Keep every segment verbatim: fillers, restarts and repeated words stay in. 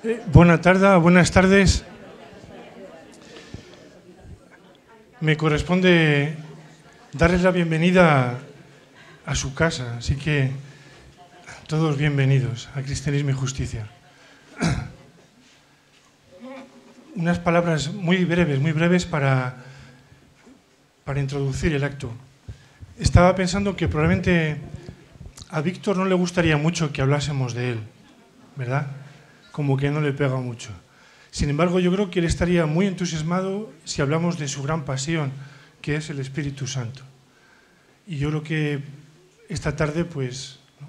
Eh, buena tarde, buenas tardes. Me corresponde darles la bienvenida a su casa, así que todos bienvenidos a Cristianismo y Justicia. Unas palabras muy breves, muy breves para, para introducir el acto. Estaba pensando que probablemente a Víctor no le gustaría mucho que hablásemos de él, ¿verdad? Como que no le pega mucho. Sin embargo, yo creo que él estaría muy entusiasmado si hablamos de su gran pasión, que es el Espíritu Santo. Y yo creo que esta tarde pues, ¿no?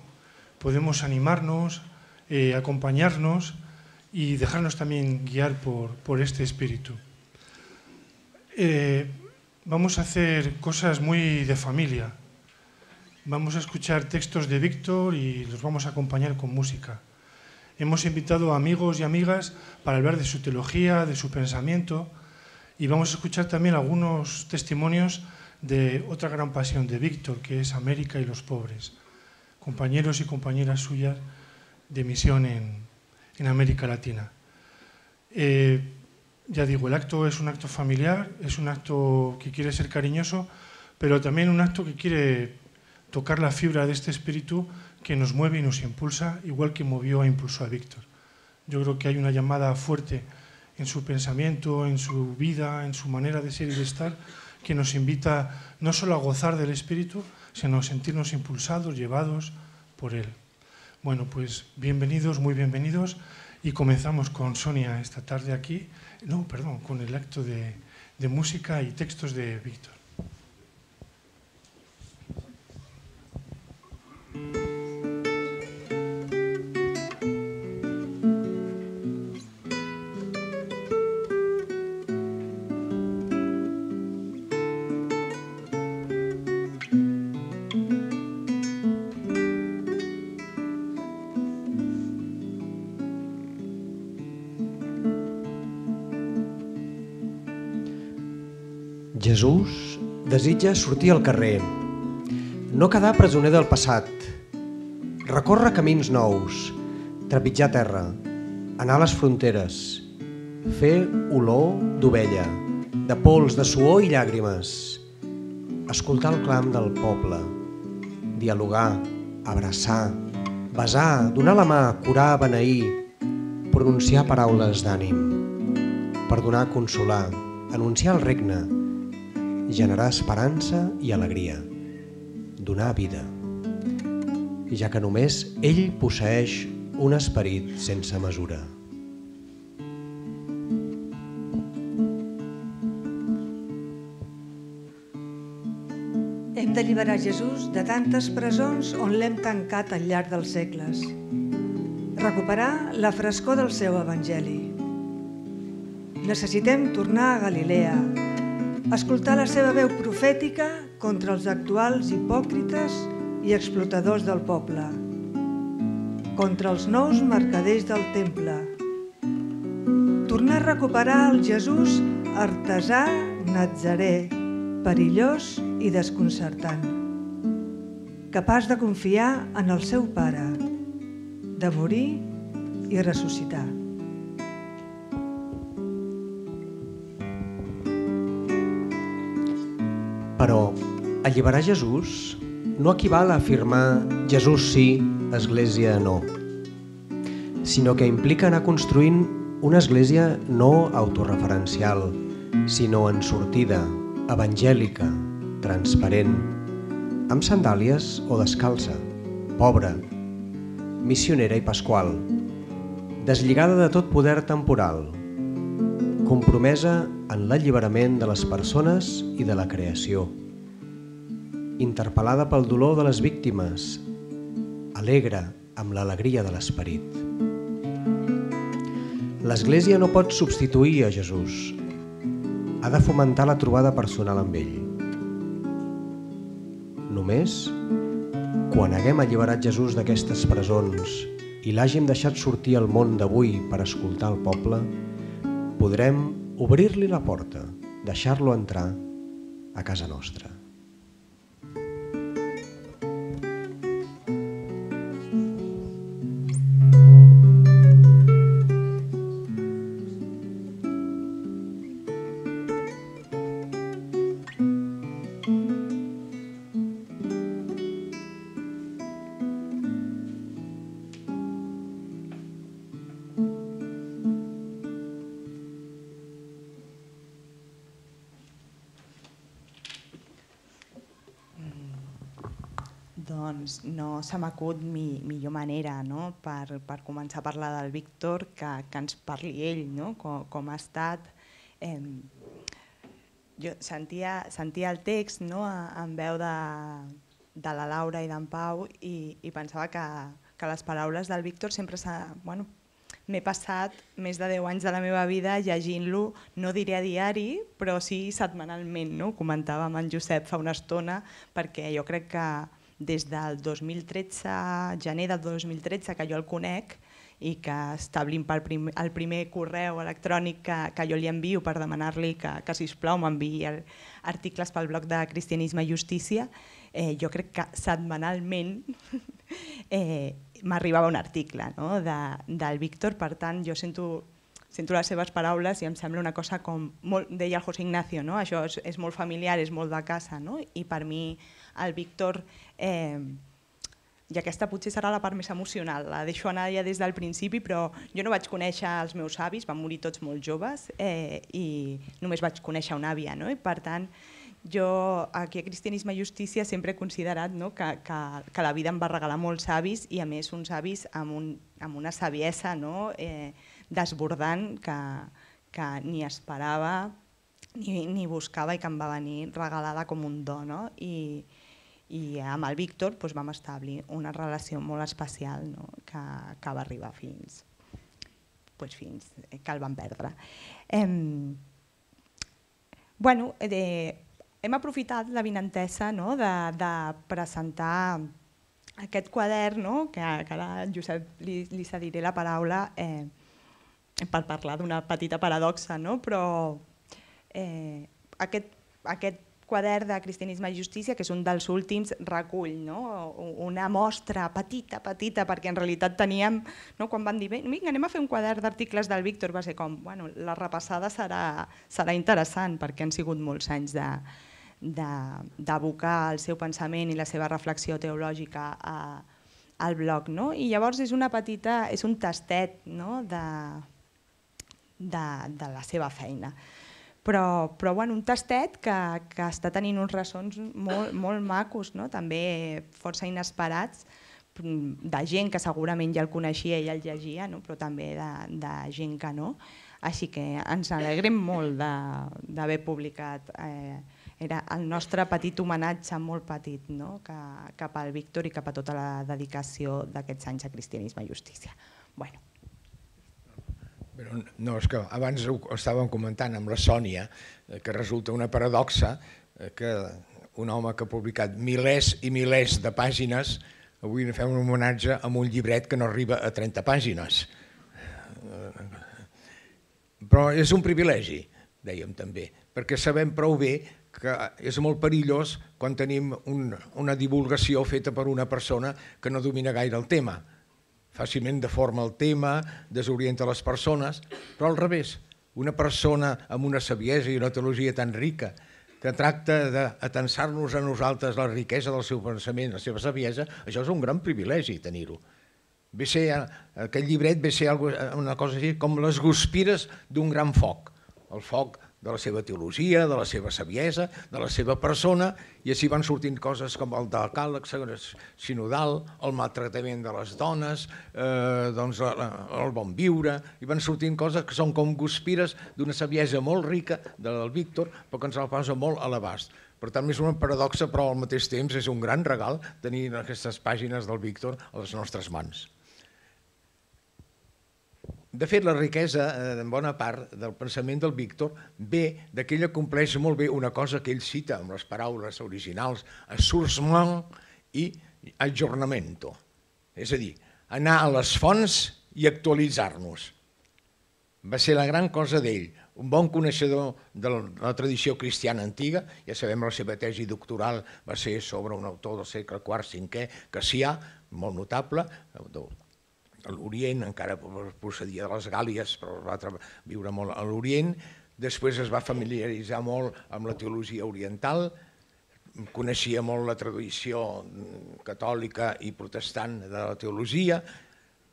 podemos animarnos, eh, acompañarnos y dejarnos también guiar por, por este Espíritu. Eh, vamos a hacer cosas muy de familia. Vamos a escuchar textos de Víctor y los vamos a acompañar con música. Hemos invitado a amigos y amigas para hablar de su teología, de su pensamiento, y vamos a escuchar también algunos testimonios de otra gran pasión de Víctor, que es América y los pobres, compañeros y compañeras suyas de misión en, en América Latina. Eh, ya digo, el acto es un acto familiar, es un acto que quiere ser cariñoso, pero también un acto que quiere tocar la fibra de este espíritu que nos mueve y nos impulsa, igual que movió e impulsó a Víctor. Yo creo que hay una llamada fuerte en su pensamiento, en su vida, en su manera de ser y de estar, que nos invita no solo a gozar del espíritu, sino a sentirnos impulsados, llevados por él. Bueno, pues bienvenidos, muy bienvenidos, y comenzamos con Sonia esta tarde aquí, no, perdón, con el acto de, de música y textos de Víctor. Jesús desitja sortir al carrer, no quedar presoner del passat, recórrer camins nous, trepitjar terra, anar a les fronteres, fer olor d'ovella, de pols, de suor i llàgrimes, escoltar el clam del poble, dialogar, abraçar, besar, donar la mà, curar, beneir, pronunciar paraules d'ànim, perdonar, consolar, anunciar el regne, generar esperança i alegria, donar vida, ja que només ell posseeix un esperit sense mesura. Hem d'alliberar Jesús de tantes presons on l'hem tancat al llarg dels segles. Recuperar la frescor del seu evangeli. Necessitem tornar a Galilea, escoltar la seva veu profètica contra els actuals hipòcrites i explotadors del poble, contra els nous mercaders del temple. Tornar a recuperar el Jesús artesà natzarè, perillós i desconcertant, capaç de confiar en el seu Pare, de morir i ressuscitar. Però alliberar Jesús no equival a afirmar Jesús sí, Església no, sinó que implica anar construint una església no autorreferencial, sinó en sortida, evangèlica, transparent, amb sandàlies o descalça, pobra, missionera i pasqual, deslligada de tot poder temporal, compromesa en l'alliberament de les persones i de la creació, interpel·lada pel dolor de les víctimes, alegre amb l'alegria de l'esperit. L'Església no pot substituir a Jesús, ha de fomentar la trobada personal amb ell. Només quan haguem alliberat Jesús d'aquestes presons i l'hàgim deixat sortir al món d'avui per escoltar el poble, podrem obrir-li la porta, deixar-lo entrar a casa nostra. Doncs no se m'acut mi, millor manera, no? per, per començar a parlar del Víctor, que, que ens parli ell, no? com, com ha estat. Eh, jo sentia, sentia el text, no? en veu de, de la Laura i d'en Pau i, i pensava que, que les paraules del Víctor sempre s'ha... Bueno, m'he passat més de deu anys de la meva vida llegint-lo, no diré a diari, però sí setmanalment, no? Comentava amb en Josep fa una estona, perquè jo crec que des del dos mil tretze, gener del dos mil tretze, que jo el conec i que establim pel prim, el primer correu electrònic que, que jo li envio per demanar-li que, que sisplau m'enviï articles pel blog de Cristianisme i Justícia, eh, jo crec que setmanalment eh, m'arribava un article, no? de, del Víctor, per tant jo sento, sento les seves paraules i em sembla una cosa com, molt, deia el José Ignacio, no? Això és, és molt familiar, és molt de casa, no? I per mi el Víctor, eh, i aquesta potser serà la part més emocional, la deixo anar ja des del principi, però jo no vaig conèixer els meus avis, van morir tots molt joves eh, i només vaig conèixer una àvia, no? I per tant jo aquí a Cristianisme i Justícia sempre he considerat, no? que, que, que la vida em va regalar molts avis i a més uns avis amb, un, amb una saviesa, no? eh, desbordant que, que ni esperava ni, ni buscava i que em va venir regalada com un do. No? I, i amb el Víctor doncs, vam establir una relació molt especial, no? que, que va arribar fins, doncs, fins que el vam perdre. Eh, bueno, eh, hem aprofitat la vinentesa, no? de, de presentar aquest quadern, no? que, que ara en Josep li, li cediré la paraula eh, per parlar d'una petita paradoxa, no? però eh, aquest, aquest quadern de Cristianisme i Justícia, que és un dels últims, recull, no? una mostra petita, petita, perquè en realitat teníem, no? quan van dir, vinga, anem a fer un quadern d'articles del Víctor, va ser com, bueno, la repassada serà, serà interessant, perquè han sigut molts anys de d'abocar el seu pensament i la seva reflexió teològica a, al blog. No? I llavors és una petita, és un tastet, no? de, de, de la seva feina. Però, però bueno, un tastet que, que està tenint uns ressons molt, molt macos, no? també força inesperats, de gent que segurament ja el coneixia i ja el llegia, no? però també de, de gent que no. Així que ens alegrem molt d'haver publicat. Eh, era el nostre petit homenatge, molt petit, no? que, cap al Víctor i cap a tota la dedicació d'aquests anys a Cristianisme i Justícia. Bueno. Però no, és que abans ho estàvem comentant amb la Sònia, que resulta una paradoxa que un home que ha publicat milers i milers de pàgines, avui ne fem un homenatge amb un llibret que no arriba a trenta pàgines. Però és un privilegi, dèiem també, perquè sabem prou bé que és molt perillós quan tenim un, una divulgació feta per una persona que no domina gaire el tema. Fàcilment deforma el tema, desorienta les persones, però al revés, una persona amb una saviesa i una teologia tan rica que tracta d'atensar-nos a nosaltres la riquesa del seu pensament, la seva saviesa, això és un gran privilegi tenir-ho. Aquest llibret ve a ser una cosa així com les guspires d'un gran foc, el foc de la seva teologia, de la seva saviesa, de la seva persona, i així van sortint coses com el decàleg sinodal, el maltractament de les dones, eh, doncs el bon viure, i van sortint coses que són com guspires d'una saviesa molt rica del Víctor, però que ens la posa molt a l'abast. Per tant, és una paradoxa, però al mateix temps és un gran regal tenir aquestes pàgines del Víctor a les nostres mans. De fet, la riquesa, en bona part, del pensament del Víctor ve d'aquell que compleix molt bé una cosa que ell cita amb les paraules originals, assorsment i aggiornamento. És a dir, anar a les fonts i actualitzar-nos. Va ser la gran cosa d'ell, un bon coneixedor de la tradició cristiana antiga, ja sabem la seva tesi doctoral va ser sobre un autor del segle quart cinquè, Cassià, molt notable, a l'Orient, encara procedia de les Gàlies, però va viure molt a l'Orient. Després es va familiaritzar molt amb la teologia oriental, coneixia molt la tradició catòlica i protestant de la teologia,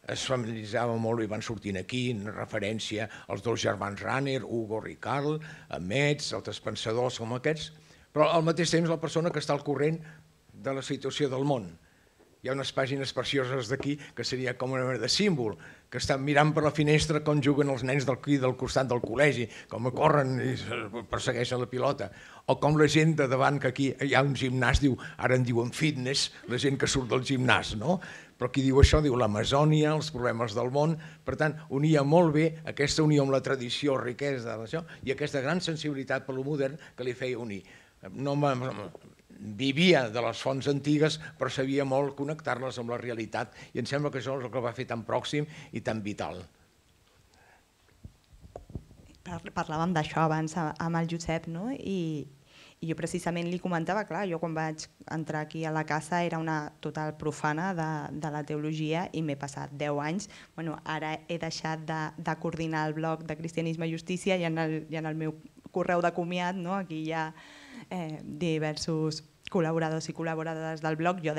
es familiaritzava molt i van sortint aquí en referència als dos germans Rahner, Hugo Ricard, Metz, altres pensadors com aquests, però al mateix temps la persona que està al corrent de la situació del món. hi ha unes pàgines precioses d'aquí que seria com una mena de símbol, que estan mirant per la finestra com juguen els nens d'aquí del costat del col·legi, com corren i persegueixen la pilota, o com la gent de davant, que aquí hi ha un gimnàs, diu, ara en diuen fitness, la gent que surt del gimnàs, no? Però qui diu això diu l'Amazònia, els problemes del món, per tant, unia molt bé aquesta unió amb la tradició, riquesa d'això, i aquesta gran sensibilitat per lo modern que li feia unir. No vivia de les fonts antigues, però sabia molt connectar-les amb la realitat, i em sembla que això és el que va fer tan pròxim i tan vital. Parlàvem d'això abans amb el Josep, no? I jo precisament li comentava, clar, jo quan vaig entrar aquí a la casa era una total profana de la teologia i m'he passat deu anys. Ara he deixat de coordinar el blog de Cristianisme i Justícia i en el meu correu de comiat aquí hi ha diversos col·laboradors i col·laboradores del blog. Jo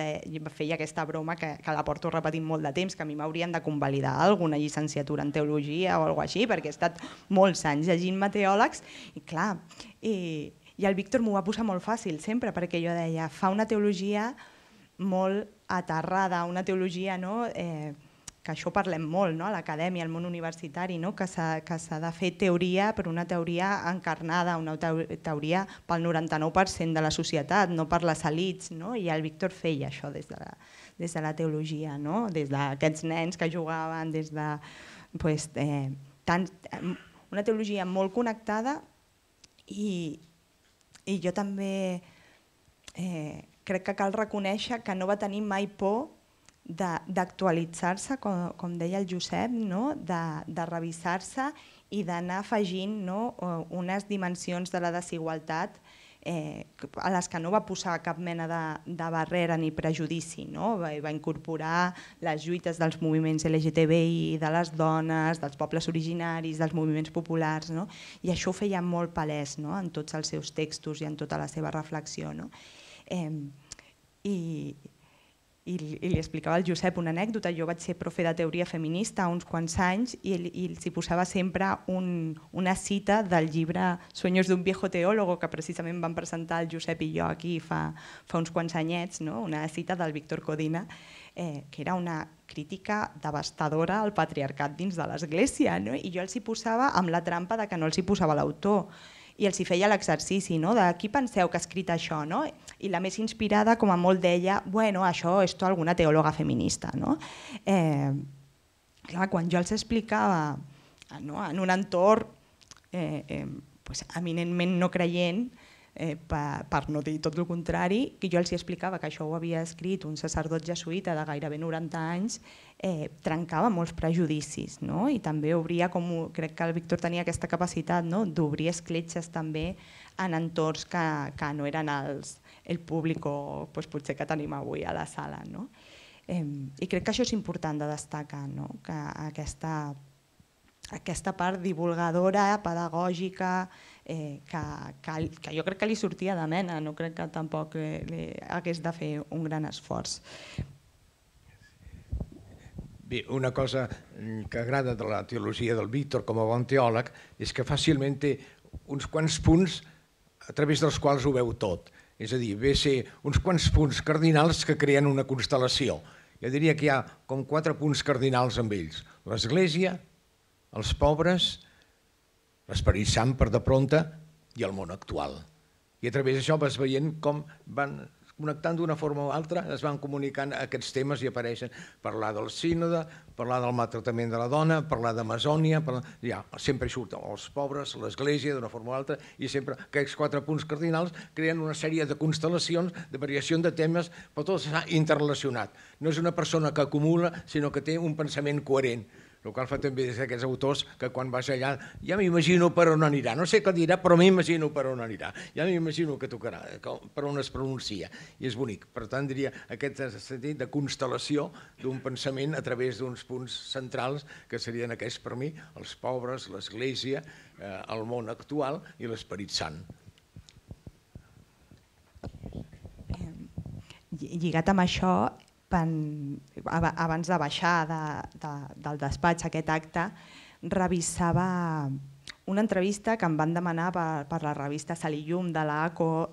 feia aquesta broma que la porto repetint molt de temps, que a mi m'haurien de convalidar alguna llicenciatura en teologia o alguna cosa així, perquè he estat molts anys llegint-me teòlegs i clar, i el Víctor m'ho va posar molt fàcil sempre, perquè jo deia, fa una teologia molt aterrada, una teologia que això parlem molt a l'acadèmia, al món universitari, que s'ha de fer teoria, però una teoria encarnada, una teoria pel noranta-nou per cent de la societat, no per les elits, i el Víctor feia això des de la teologia, des d'aquests nens que jugaven, des de una teologia molt connectada. I jo també crec que cal reconèixer que no va tenir mai por d'actualitzar-se, com deia el Josep, de revisar-se i d'anar afegint unes dimensions de la desigualtat a les que no va posar cap mena de barrera ni prejudici. Va incorporar les lluites dels moviments L G T B I, de les dones, dels pobles originaris, dels moviments populars, i això ho feia molt palès en tots els seus textos i en tota la seva reflexió. I li explicava al Josep una anècdota. Jo vaig ser profe de teoria feminista uns quants anys i els hi posava sempre una cita del llibre Sueños d'un viejo teólogo, que precisament van presentar el Josep i jo aquí fa uns quants anyets, una cita del Víctor Codina, que era una crítica devastadora al patriarcat dins de l'Església, i jo els hi posava amb la trampa que no els hi posava l'autor. I els hi feia l'exercici de qui penseu que ha escrit això, i la més inspirada com a molt deia, bueno, això és alguna teòloga feminista. Quan jo els explicava en un entorn eminentment no creient, per no dir tot el contrari, que jo els explicava que això ho havia escrit un sacerdot jesuïta de gairebé noranta anys, trencava molts prejudicis i també obria, com crec que el Víctor tenia aquesta capacitat d'obrir escletxes també en entorns que no eren el públic potser que tenim avui a la sala. I crec que això és important de destacar, que aquesta part divulgadora, pedagògica, que jo crec que li sortia de mena, no crec que tampoc hagués de fer un gran esforç. Bé, una cosa que agrada de la teologia del Víctor com a bon teòleg és que fàcilment té uns quants punts a través dels quals ho veu tot. És a dir, ve a ser uns quants punts cardinals que creen una constel·lació. Jo diria que hi ha com quatre punts cardinals amb ells. L'Església, els pobres, l'Esperit Sant per de prompte i el món actual. I a través d'això vas veient com van connectant d'una forma o altra, es van comunicant aquests temes i apareixen parlar del sínode, parlar del maltractament de la dona, parlar d'Amazònia, ja sempre surten els pobres, l'Església d'una forma o altra, i sempre aquests quatre punts cardinals creen una sèrie de constel·lacions, de variació de temes, però tot s'ha interrelacionat. No és una persona que acumula, sinó que té un pensament coherent. El qual fa també des d'aquests autors que quan vas allà ja m'imagino per on anirà, no sé què dirà, però m'imagino per on anirà, ja m'imagino que tocarà, per on es pronuncia, i és bonic. Per tant, diria aquest sentit de constel·lació d'un pensament a través d'uns punts centrals que serien aquests per mi, els pobres, l'Església, el món actual i l'Esperit Sant. Lligat amb això, abans de baixar del despatx aquest acte, revisava una entrevista que em van demanar per la revista Sal i Llum de l'A C O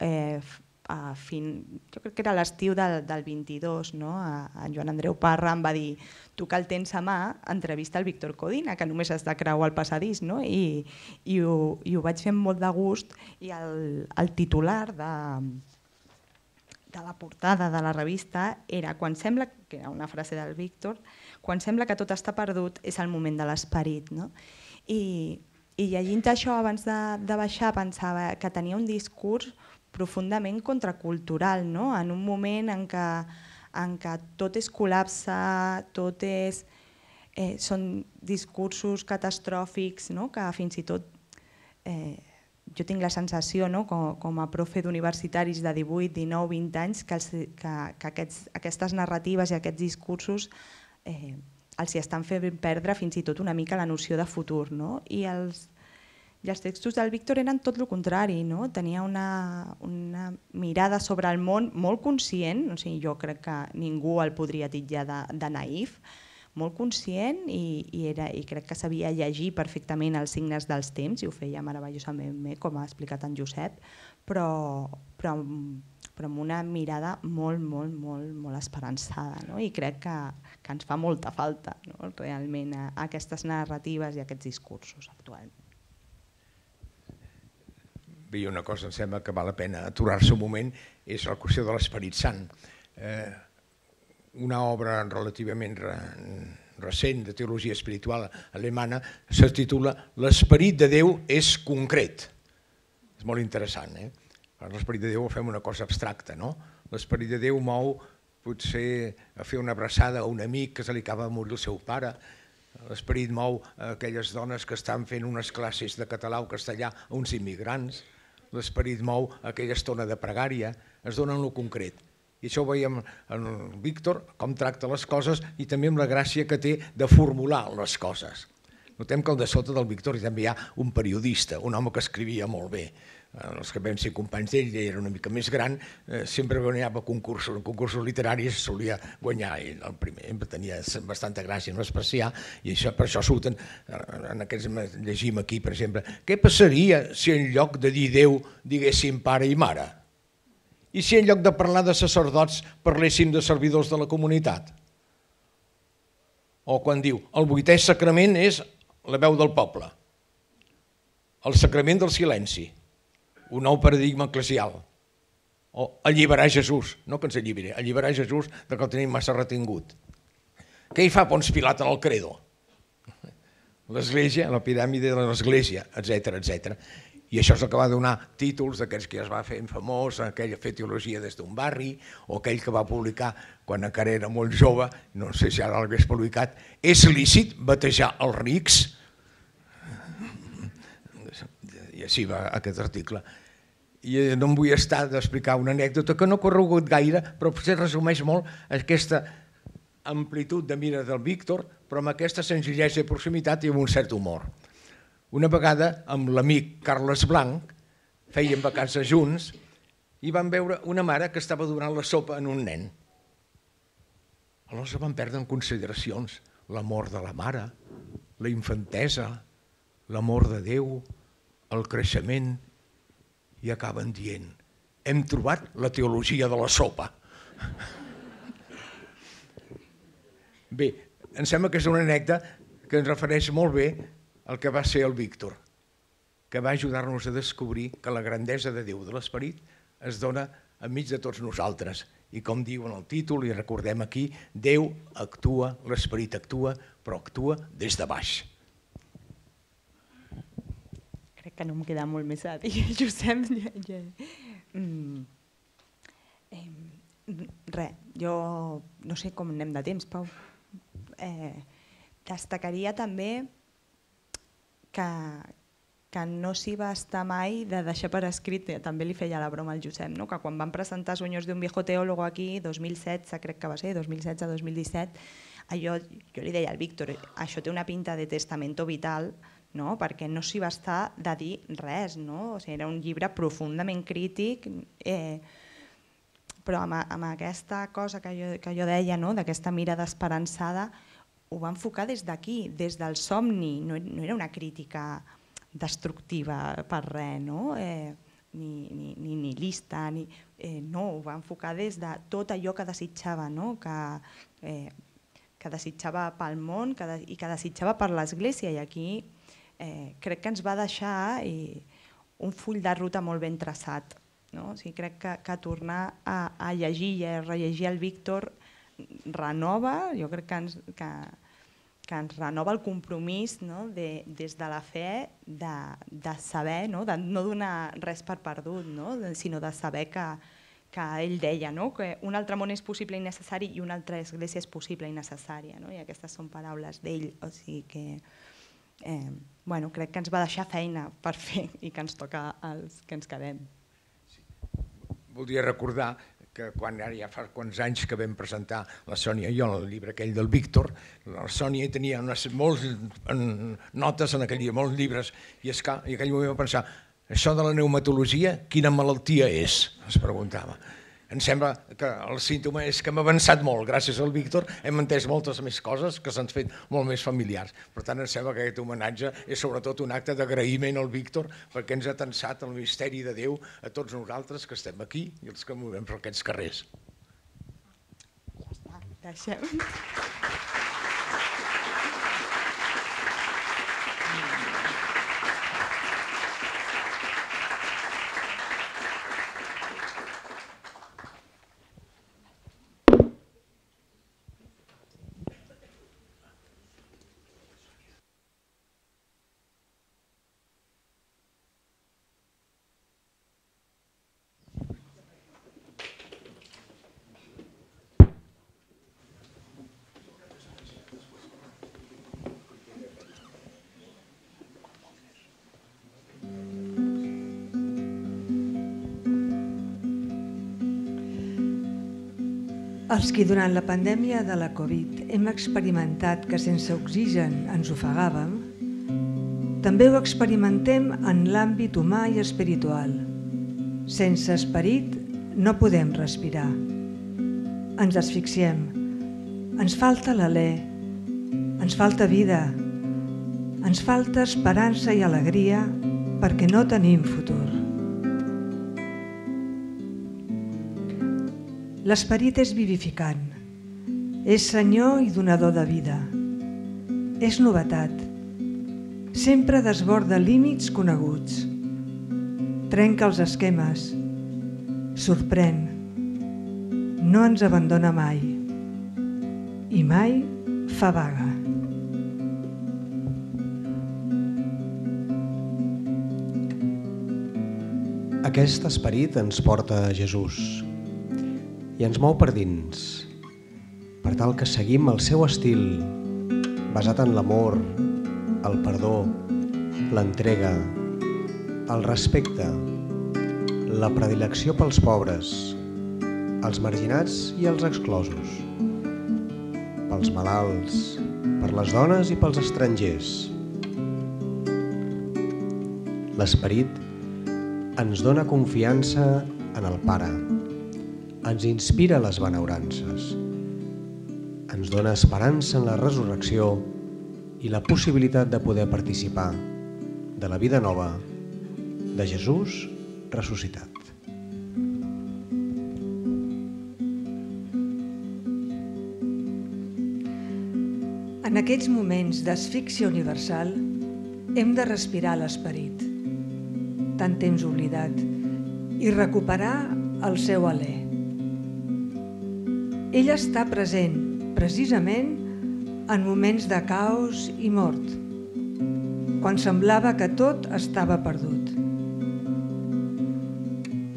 a fin, jo crec que era l'estiu del, del vint-i-dos, no? En Joan Andreu Parra em va dir tu que el tens a mà, entrevista el Víctor Codina, que només has de creuar el passadís, no? I, i, ho, i ho vaig fer amb molt de gust i el, el titular de, de la portada de la revista era quan sembla, que era una frase del Víctor, quan sembla que tot està perdut és el moment de l'esperit, no? I, i llegint això abans de, de baixar pensava que tenia un discurs profundament contracultural, no? En un moment en què, en què tot és col·lapse, tot és, eh, són discursos catastròfics, no? Que fins i tot eh, jo tinc la sensació, no? com, com a profe d'universitaris de divuit, dinou, vint anys, que, els, que, que aquests, aquestes narratives i aquests discursos eh, els hi estan fent perdre fins i tot una mica la noció de futur, no? I els I els textos del Víctor eren tot el contrari, no? Tenia una, una mirada sobre el món molt conscient, o sigui, jo crec que ningú el podria titllar de, de naïf, molt conscient i, i, era, i crec que sabia llegir perfectament els signes dels temps i ho feia meravellosament bé, com ha explicat en Josep, però, però, però amb una mirada molt, molt, molt, molt esperançada, no? I crec que, que ens fa molta falta, no? Realment a, a aquestes narratives i a aquests discursos actualment. Bé, una cosa em sembla que val la pena aturar-se un moment, és la qüestió de l'Esperit Sant. Eh, una obra relativament re, recent de teologia espiritual alemana se titula L'Esperit de Déu és concret. És molt interessant, eh? L'Esperit de Déu ho fem una cosa abstracta, no? L'Esperit de Déu mou potser a fer una abraçada a un amic que se li acaba de morir el seu pare. L'Esperit mou aquelles dones que estan fent unes classes de català o castellà a uns immigrants. L'Esperit mou aquella estona de pregària, es dona en lo concret. I això ho veiem en el Víctor, com tracta les coses i també amb la gràcia que té de formular les coses. Notem que al de sota del Víctor també hi ha un periodista, un home que escrivia molt bé. Els que vam ser companys d'ell, ell era una mica més gran, eh, sempre guanyava concursos, concursos literaris, solia guanyar ell el primer, tenia bastanta gràcia, no especial, i això, per això surten, en aquests llegim aquí, per exemple, què passaria si en lloc de dir Déu diguéssim pare i mare? I si en lloc de parlar de sacerdots parléssim de servidors de la comunitat? O quan diu, el vuitè sacrament és la veu del poble, el sacrament del silenci, un nou paradigma eclesial, o alliberar Jesús, no que ens alliberi, alliberar Jesús de que el tenim massa retingut. Què hi fa Pons Pilat en el credo? L'església, la piràmide de l'església, etcètera, etcètera. I això és el que va donar títols d'aquells que ja es va fer famós, aquell que fa teologia des d'un barri, o aquell que va publicar quan encara era molt jove, no sé si ara l'hagués publicat, és lícit batejar els rics? I així va aquest article. I no em vull estar d'explicar una anècdota que no ha corregut gaire, però potser resumeix molt aquesta amplitud de mira del Víctor, però amb aquesta senzillesa i proximitat i amb un cert humor. Una vegada, amb l'amic Carles Blanc, fèiem vacances junts i vam veure una mare que estava donant la sopa en un nen. Aleshores vam perdre en consideracions l'amor de la mare, la infantesa, l'amor de Déu, el creixement, i acaben dient, hem trobat la teologia de la sopa. Bé, em sembla que és una anècdota que ens refereix molt bé al que va ser el Víctor, que va ajudar-nos a descobrir que la grandesa de Déu de l'Esperit es dona enmig de tots nosaltres. I com diu en el títol, i recordem aquí, Déu actua, l'Esperit actua, però actua des de baix. Crec que no em queda molt més a dir, Josep. Mm. Eh, res, jo no sé com anem de temps, Pau. Eh, destacaria també que, que no s'hi va estar mai de deixar per escrit, també li feia la broma al Josep, no? Que quan van presentar Sueños de un viejo teólogo aquí, dos mil setze, crec que va ser, dos mil setze dos mil disset, allò, jo li deia al Víctor, això té una pinta de testamento vital, no? Perquè no s'hi va estar de dir res, no? O sigui, era un llibre profundament crític, eh, però amb, amb aquesta cosa que jo, que jo deia, no? D'aquesta mirada esperançada, ho va enfocar des d'aquí, des del somni, no, no era una crítica destructiva per res, no? Eh, ni, ni, ni, ni lista, ni, eh, no, ho va enfocar des de tot allò que desitjava, no? que, eh, que desitjava pel món que de, i que desitjava per l'Església, i aquí eh, crec que ens va deixar eh, un full de ruta molt ben traçat. No? O sigui, crec que, que tornar a, a llegir i a rellegir el Víctor renova, jo crec que ens, que, que ens renova el compromís, no? de, des de la fe de, de saber, no? de no donar res per perdut, no? de, sinó de saber que, que ell deia, no? que un altre món és possible i necessari i una altra església és possible i necessària, no? i aquestes són paraules d'ell, o sigui que eh, bueno, crec que ens va deixar feina per fer i que ens toca als que ens quedem. Voldria recordar que quan ara ja fa quants anys que vam presentar la Sònia i jo el llibre aquell del Víctor, la Sònia tenia unes molts notes en aquell llibre, molts llibres, i és que en aquell moment va pensar, això de la pneumatologia, quina malaltia és? Es preguntava. Em sembla que el símptoma és que hem avançat molt, gràcies al Víctor hem entès moltes més coses que s'han fet molt més familiars. Per tant, em sembla que aquest homenatge és sobretot un acte d'agraïment al Víctor perquè ens ha tensat el misteri de Déu a tots nosaltres que estem aquí i els que movem per aquests carrers. Ja està, deixem. Els qui durant la pandèmia de la Covid hem experimentat que sense oxigen ens ofegàvem, també ho experimentem en l'àmbit humà i espiritual. Sense esperit no podem respirar. Ens asfixiem, ens falta l'alè, ens falta vida, ens falta esperança i alegria perquè no tenim futur. L'esperit és vivificant, és senyor i donador de vida, és novetat, sempre desborda límits coneguts, trenca els esquemes, sorprèn, no ens abandona mai i mai fa vaga. Aquest esperit ens porta a Jesús i ens mou per dins, per tal que seguim el seu estil, basat en l'amor, el perdó, l'entrega, el respecte, la predilecció pels pobres, els marginats i els exclosos, pels malalts, per les dones i pels estrangers. L'esperit ens dona confiança en el Pare, ens inspira les benaurances, ens dona esperança en la resurrecció i la possibilitat de poder participar de la vida nova de Jesús ressuscitat. En aquests moments d'asfíxia universal hem de respirar l'esperit, tant temps oblidat, i recuperar el seu alè. Ell està present, precisament, en moments de caos i mort, quan semblava que tot estava perdut.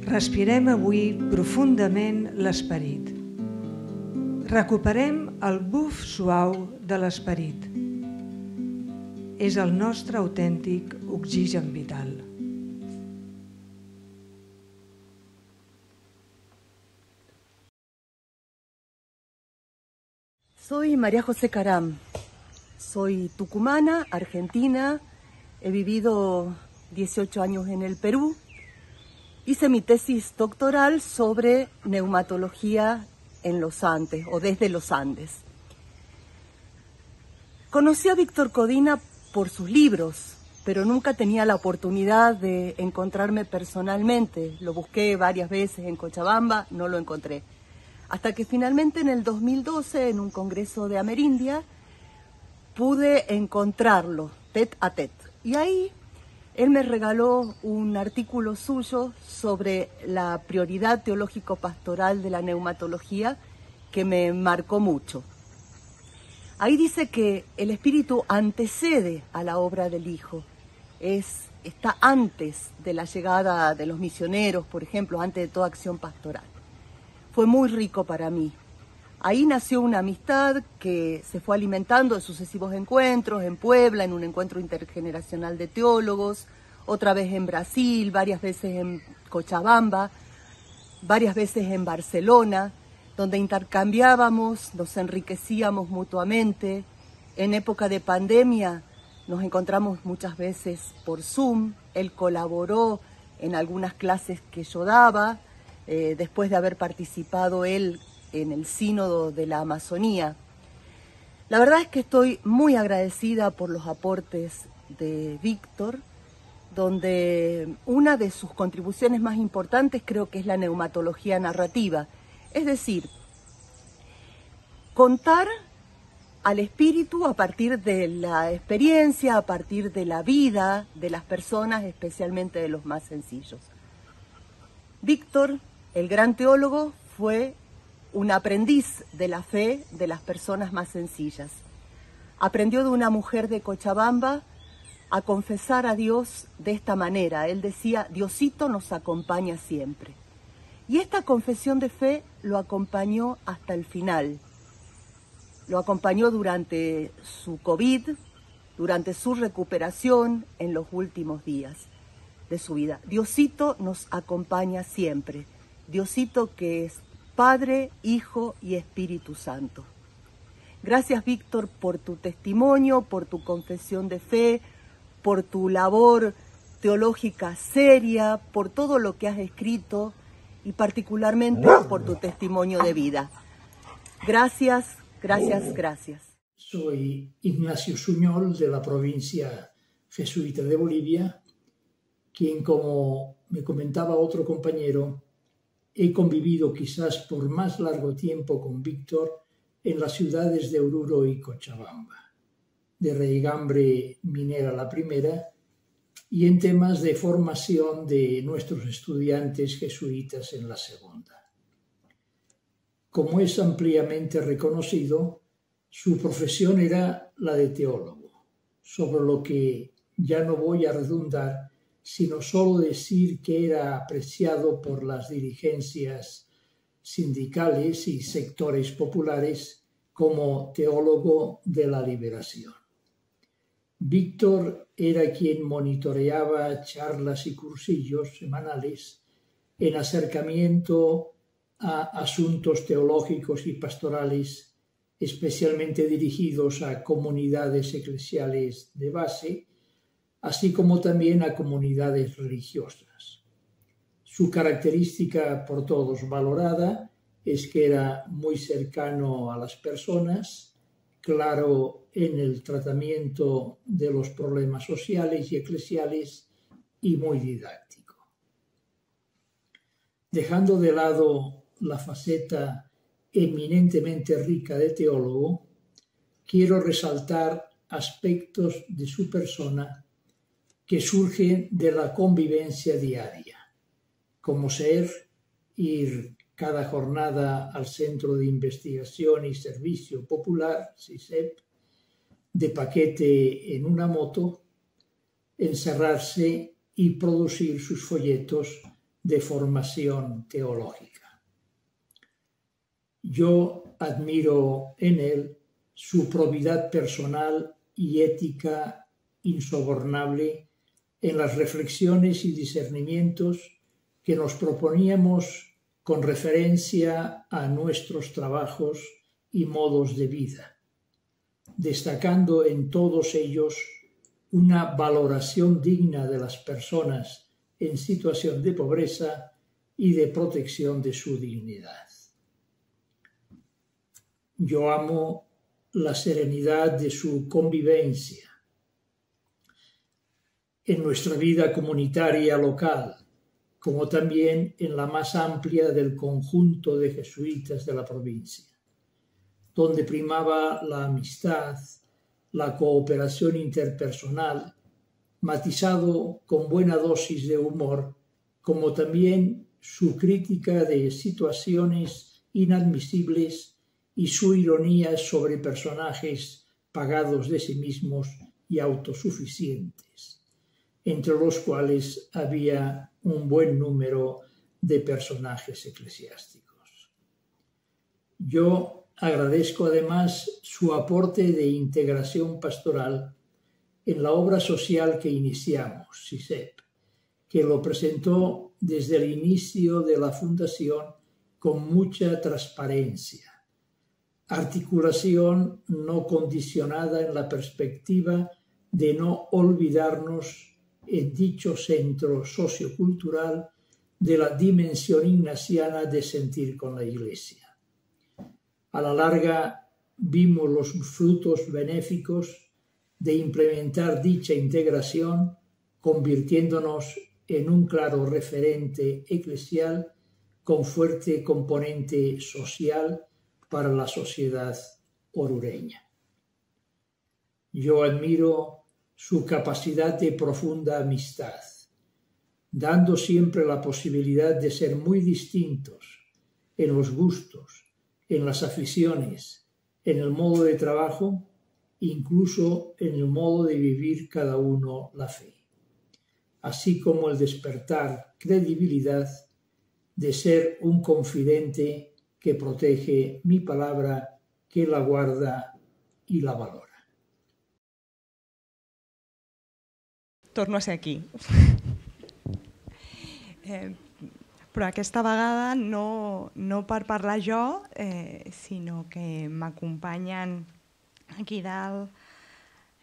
Respirem avui profundament l'esperit. Recuperem el buf suau de l'esperit. És el nostre autèntic oxigen vital. Soy María José Caram, soy tucumana, argentina, he vivido dieciocho años en el Perú, hice mi tesis doctoral sobre neumatología en los Andes o desde los Andes. Conocí a Víctor Codina por sus libros, pero nunca tenía la oportunidad de encontrarme personalmente. Lo busqué varias veces en Cochabamba, no lo encontré. Hasta que finalmente en el dos mil doce, en un congreso de Amerindia, pude encontrarlo, tete a tete. Y ahí él me regaló un artículo suyo sobre la prioridad teológico-pastoral de la neumatología que me marcó mucho. Ahí dice que el Espíritu antecede a la obra del Hijo, es, está antes de la llegada de los misioneros, por ejemplo, antes de toda acción pastoral. Fue muy rico para mí. Ahí nació una amistad que se fue alimentando de sucesivos encuentros, en Puebla, en un encuentro intergeneracional de teólogos, otra vez en Brasil, varias veces en Cochabamba, varias veces en Barcelona, donde intercambiábamos, nos enriquecíamos mutuamente. En época de pandemia nos encontramos muchas veces por Zoom. Él colaboró en algunas clases que yo daba, eh, después de haber participado él en el Sínodo de la Amazonía. La verdad es que estoy muy agradecida por los aportes de Víctor, donde una de sus contribuciones más importantes creo que es la neumatología narrativa. Es decir, contar al espíritu a partir de la experiencia, a partir de la vida de las personas, especialmente de los más sencillos. Víctor, el gran teólogo, fue un aprendiz de la fe de las personas más sencillas. Aprendió de una mujer de Cochabamba a confesar a Dios de esta manera. Él decía, Diosito nos acompaña siempre. Y esta confesión de fe lo acompañó hasta el final. Lo acompañó durante su COVID, durante su recuperación en los últimos días de su vida. Diosito nos acompaña siempre. Diosito que es Padre, Hijo y Espíritu Santo. Gracias, Víctor, por tu testimonio, por tu confesión de fe, por tu labor teológica seria, por todo lo que has escrito y particularmente por tu testimonio de vida. Gracias, gracias, gracias. Soy Ignacio Suñol, de la provincia jesuita de Bolivia, quien, como me comentaba otro compañero, he convivido quizás por más largo tiempo con Víctor en las ciudades de Oruro y Cochabamba, de Raigambre Minera la primera, y en temas de formación de nuestros estudiantes jesuitas en la segunda. Como es ampliamente reconocido, su profesión era la de teólogo, sobre lo que ya no voy a redundar, sino solo decir que era apreciado por las dirigencias sindicales y sectores populares como teólogo de la liberación. Víctor era quien monitoreaba charlas y cursillos semanales en acercamiento a asuntos teológicos y pastorales, especialmente dirigidos a comunidades eclesiales de base, así como también a comunidades religiosas. Su característica por todos valorada es que era muy cercano a las personas, claro en el tratamiento de los problemas sociales y eclesiales y muy didáctico. Dejando de lado la faceta eminentemente rica de teólogo, quiero resaltar aspectos de su persona que surgen de la convivencia diaria, como ser ir cada jornada al Centro de Investigación y Servicio Popular, C I S E P, de paquete en una moto, encerrarse y producir sus folletos de formación teológica. Yo admiro en él su probidad personal y ética insobornable en las reflexiones y discernimientos que nos proponíamos con referencia a nuestros trabajos y modos de vida, destacando en todos ellos una valoración digna de las personas en situación de pobreza y de protección de su dignidad. Yo amo la serenidad de su convivencia, en nuestra vida comunitaria local, como también en la más amplia del conjunto de jesuitas de la provincia, donde primaba la amistad, la cooperación interpersonal, matizado con buena dosis de humor, como también su crítica de situaciones inadmisibles y su ironía sobre personajes pagados de sí mismos y autosuficientes, entre los cuales había un buen número de personajes eclesiásticos. Yo agradezco además su aporte de integración pastoral en la obra social que iniciamos, S I S E P, que lo presentó desde el inicio de la fundación con mucha transparencia, articulación no condicionada en la perspectiva de no olvidarnos en dicho centro sociocultural de la dimensión ignaciana de sentir con la Iglesia. A la larga vimos los frutos benéficos de implementar dicha integración, convirtiéndonos en un claro referente eclesial con fuerte componente social para la sociedad orureña. Yo admiro su capacidad de profunda amistad, dando siempre la posibilidad de ser muy distintos en los gustos, en las aficiones, en el modo de trabajo, incluso en el modo de vivir cada uno la fe, así como el despertar credibilidad de ser un confidente que protege mi palabra, que la guarda i la valora. Torno a ser aquí. eh, però aquesta vegada no, no per parlar jo, eh, sinó que m'acompanyen aquí dalt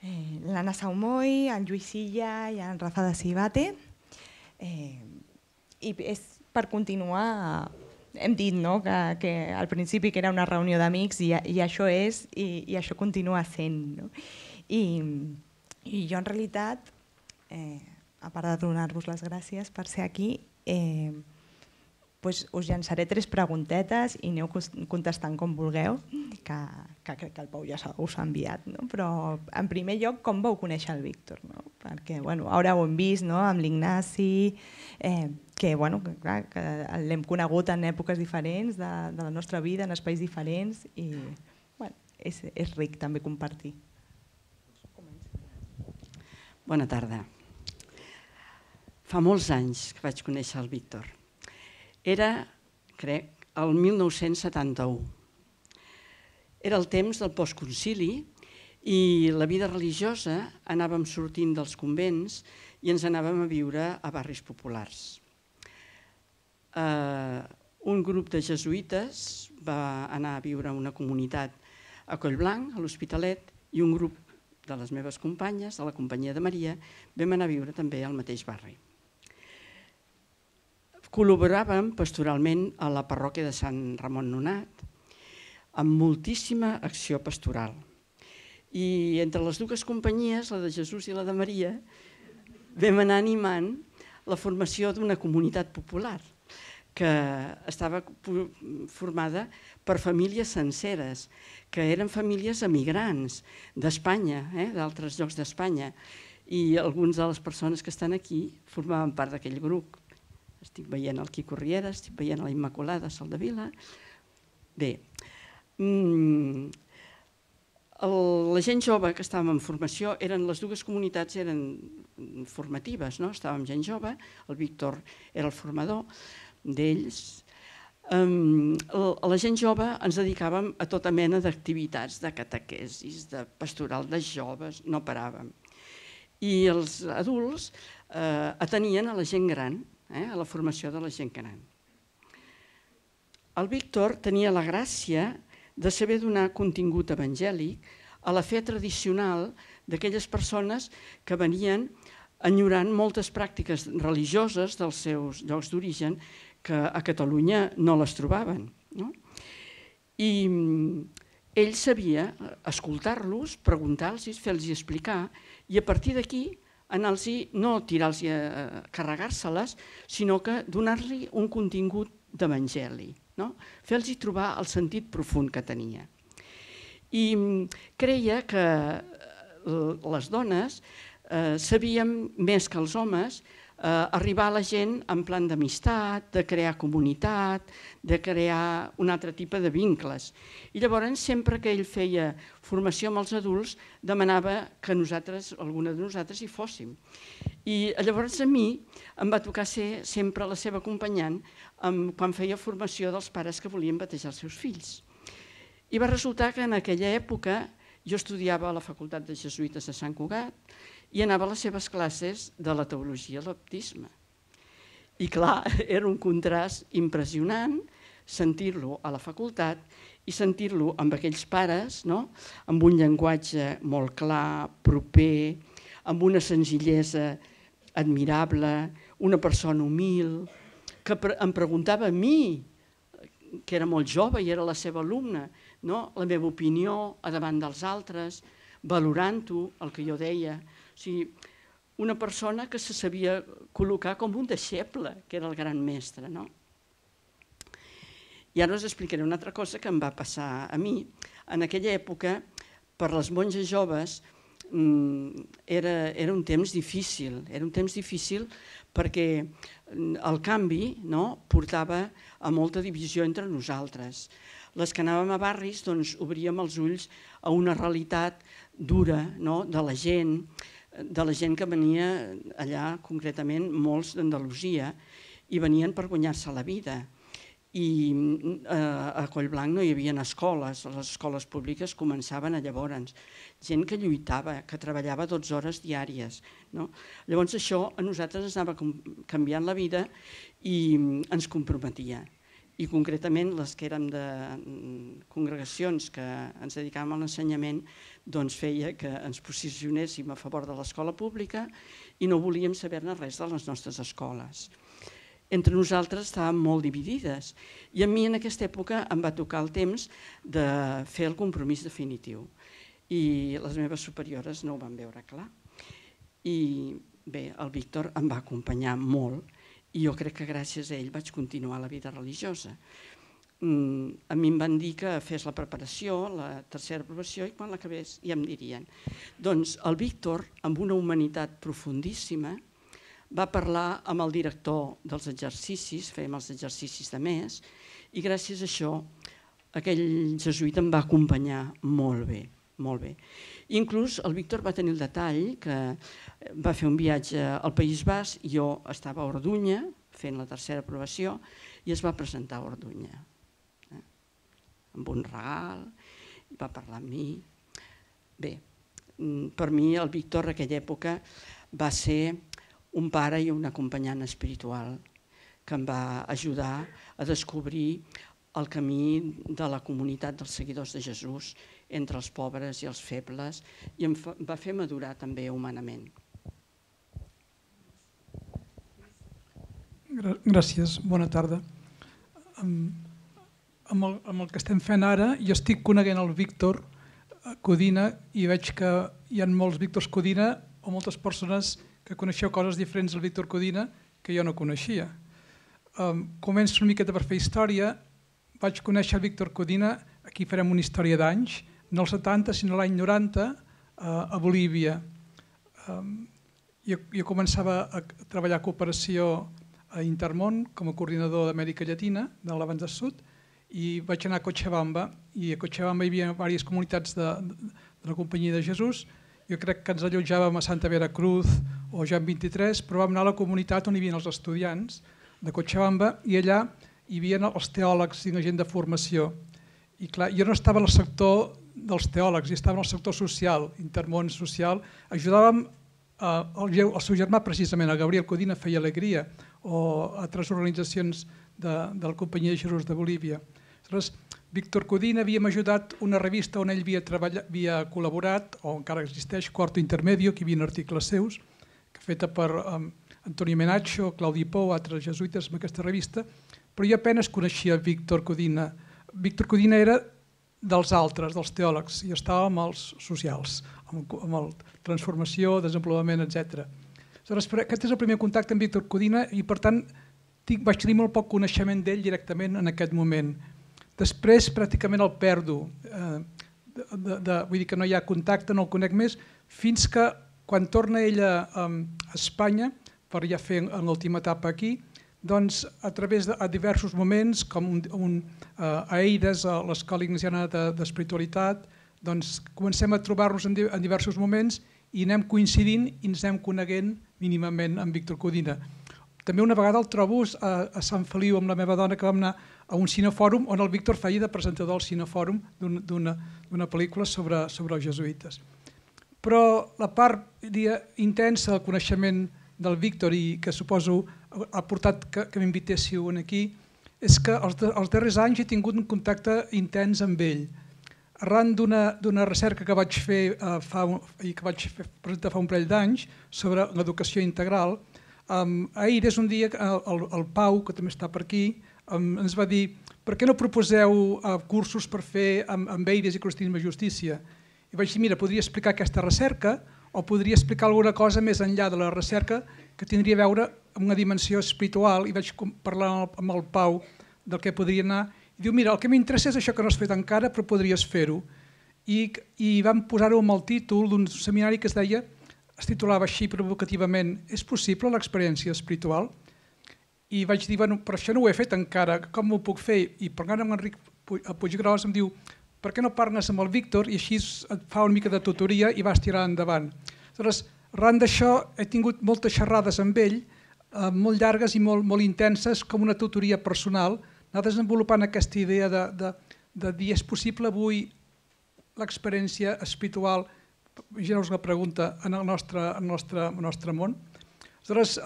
eh, l'Anna Saumoy, en Lluís Silla i en Rafa de Cibate. Eh, I és per continuar, hem dit no, que, que al principi que era una reunió d'amics i, i això és, i, i això continua sent. No? I, I jo en realitat, eh, a part de donar-vos les gràcies per ser aquí, eh, pues us llançaré tres preguntetes i aneu contestant com vulgueu, que, que crec que el Pau ja us ha enviat. No? Però en primer lloc, com vau conèixer el Víctor? No? Perquè bueno, ara ho hem vist no? Amb l'Ignasi, eh, que, bueno, que, clar, que l'hem conegut en èpoques diferents de, de la nostra vida, en espais diferents, i bueno, és, és ric també compartir. Bona tarda. Fa molts anys que vaig conèixer el Víctor. Era, crec, el mil nou-cents setanta-u. Era el temps del postconcili i la vida religiosa anàvem sortint dels convents i ens anàvem a viure a barris populars. Uh, un grup de jesuïtes va anar a viure a una comunitat a Collblanc, a l'Hospitalet, i un grup de les meves companyes, de la Companyia de Maria, vam anar a viure també al mateix barri. Col·laboràvem pastoralment a la parròquia de Sant Ramon Nonat, amb moltíssima acció pastoral. I entre les dues companyies, la de Jesús i la de Maria, vam anar animant la formació d'una comunitat popular que estava formada per famílies senceres, que eren famílies emigrants d'Espanya, eh, d'altres llocs d'Espanya, i algunes de les persones que estan aquí formaven part d'aquell grup. Estic veient el Quico Riera, estic veient la Immaculada Soldevila. Bé, mm, el, la gent jove que estàvem en formació, eren les dues comunitats eren formatives, no? Estàvem gent jove, el Víctor era el formador d'ells. Um, a la gent jove ens dedicàvem a tota mena d'activitats, de catequesis, de pastoral de joves, no paràvem. I els adults eh, atenien a la gent gran, eh, a la formació de la gent gran. El Víctor tenia la gràcia de saber donar contingut evangèlic a la fe tradicional d'aquelles persones que venien enyorant moltes pràctiques religioses dels seus llocs d'origen que a Catalunya no les trobaven. No? I ell sabia escoltar-los, preguntar-los, fer-los explicar, i a partir d'aquí anar-los, no tirar-los a carregar-se-les, sinó que donar-li un contingut d'evangeli, no? Fer-los trobar el sentit profund que tenia. I creia que les dones eh, sabíem més que els homes eh, arribar a la gent en plan d'amistat, de crear comunitat, de crear un altre tipus de vincles. I llavors, sempre que ell feia formació amb els adults, demanava que nosaltres, alguna de nosaltres, hi fóssim. I llavors a mi em va tocar ser sempre la seva acompanyant quan feia formació dels pares que volien batejar els seus fills. I va resultar que en aquella època jo estudiava a la Facultat de Jesuïtes de Sant Cugat i anava a les seves classes de la teologia i el baptisme. I clar, era un contrast impressionant sentir-lo a la facultat i sentir-lo amb aquells pares, no? Amb un llenguatge molt clar, proper, amb una senzillesa admirable, una persona humil, que em preguntava a mi, que era molt jove i era la seva alumna, no? La meva opinió a davant dels altres, valorant-ho, el que jo deia. O sigui, una persona que se sabia col·locar com un deixeble, que era el gran mestre, no? I ara us explicaré una altra cosa que em va passar a mi. En aquella època, per les monges joves, era, era un temps difícil. Era un temps difícil perquè el canvi, no, portava a molta divisió entre nosaltres. Les que anàvem a barris doncs, obríem els ulls a una realitat dura, no, de la gent, de la gent que venia allà, concretament molts d'Andalusia, i venien per guanyar-se la vida. I a Collblanc no hi havia escoles, les escoles públiques començaven a llavors. Gent que lluitava, que treballava dotze hores diàries. No? Llavors això a nosaltres ens anava canviant la vida i ens comprometia. I concretament les que érem de congregacions que ens dedicàvem a l'ensenyament doncs feia que ens posicionéssim a favor de l'escola pública i no volíem saber-ne res de les nostres escoles. Entre nosaltres estàvem molt dividides i a mi en aquesta època em va tocar el temps de fer el compromís definitiu i les meves superiores no ho van veure clar. I bé, el Víctor em va acompanyar molt i jo crec que gràcies a ell vaig continuar la vida religiosa. A mi em van dir que fes la preparació, la tercera aprovació, i quan l'acabés ja em dirien. Doncs el Víctor, amb una humanitat profundíssima, va parlar amb el director dels exercicis, fèiem els exercicis de mes, i gràcies a això aquell jesuïta em va acompanyar molt bé, molt bé. Inclús el Víctor va tenir el detall que va fer un viatge al País Basc, jo estava a Orduña fent la tercera aprovació i es va presentar a Orduña amb un regal, va parlar amb mi. Bé, per mi el Víctor en aquella època va ser un pare i un acompanyant espiritual que em va ajudar a descobrir el camí de la comunitat dels seguidors de Jesús entre els pobres i els febles i em va fer madurar també humanament. Gràcies, bona tarda. Amb el, amb el que estem fent ara, jo estic coneguent el Víctor Codina i veig que hi ha molts Víctors Codina o moltes persones que coneixeu coses diferents del Víctor Codina que jo no coneixia. Um, començo una miqueta per fer història. Vaig conèixer el Víctor Codina, aquí farem una història d'anys, no als setanta, sinó l'any noranta, uh, a Bolívia. Um, jo, jo començava a treballar a cooperació a Intermón com a coordinador d'Amèrica Llatina, de l'Abans del Sud, i vaig anar a Cochabamba, i a Cochabamba hi havia diverses comunitats de, de, de la Companyia de Jesús. Jo crec que ens allotjàvem a Santa Veracruz o Jan vint-i-tres, però vam anar a la comunitat on hi havia els estudiants de Cochabamba i allà hi havia els teòlegs i la gent de formació. I clar, jo no estava en el sector dels teòlegs, jo estava en el sector social, Intermón social. Ajudàvem el, el seu germà, precisament, el Gabriel Codina, feia Alegria, o altres organitzacions de, de la Companyia de Jesús de Bolívia. Aleshores, Víctor Codina havíem ajudat una revista on ell havia, treballat, havia col·laborat, o encara existeix, Quarto Intermedio, que hi havia articles seus, feta per um, Antonio Menacho, Claudi Pou, altres jesuïtes amb aquesta revista, però jo apenas coneixia Víctor Codina. Víctor Codina era dels altres, dels teòlegs, i estava amb els socials, amb el transformació, desenvolupament, etcètera. Aquest és el primer contacte amb Víctor Codina i, per tant, vaig tenir molt poc coneixement d'ell directament en aquest moment. Després, pràcticament el perdo. Vull dir que no hi ha contacte, no el conec més, fins que, quan torna ella a Espanya, per ja fer l'última etapa aquí, doncs, a través de diversos moments, com a Eires, a l'Escola Ignasiana d'Espiritualitat, doncs comencem a trobar-nos en diversos moments i anem coincidint i ens anem coneguent mínimament amb Víctor Codina. També una vegada el trobo a Sant Feliu amb la meva dona, que vam anar a un cinefòrum on el Víctor feia de presentador al cinefòrum d'una pel·lícula sobre els jesuïtes. Però la part intensa del coneixement del Víctor i que suposo ha portat que m'invitéssiu aquí és que els darrers anys he tingut un contacte intens amb ell. Arran d'una recerca que vaig fer i que vaig presentar fa un parell d'anys sobre l'educació integral, ahir és un dia que el Pau, que també està per aquí, ens va dir: per què no proposeu cursos per fer amb Eires i cristianisme i justícia? I vaig dir: mira, podria explicar aquesta recerca o podria explicar alguna cosa més enllà de la recerca que tindria a veure amb una dimensió espiritual. I vaig parlar amb el Pau del que podria anar. I diu: mira, el que m'interessa és això que no has fet encara, però podries fer-ho. I vam posar-ho amb el títol d'un seminari que es deia, es titulava així provocativament: és possible l'experiència espiritual? I vaig dir: bueno, però això no ho he fet encara, com ho puc fer? I parlant amb Enric Puiggròs em diu: per què no parles amb el Víctor i així et fa una mica de tutoria i vas tirar endavant? Aleshores, arran d'això he tingut moltes xerrades amb ell, molt llargues i molt intenses, com una tutoria personal, anar desenvolupant aquesta idea de dir: és possible avui l'experiència espiritual, imagineu-vos la pregunta, en el nostre món? Aleshores,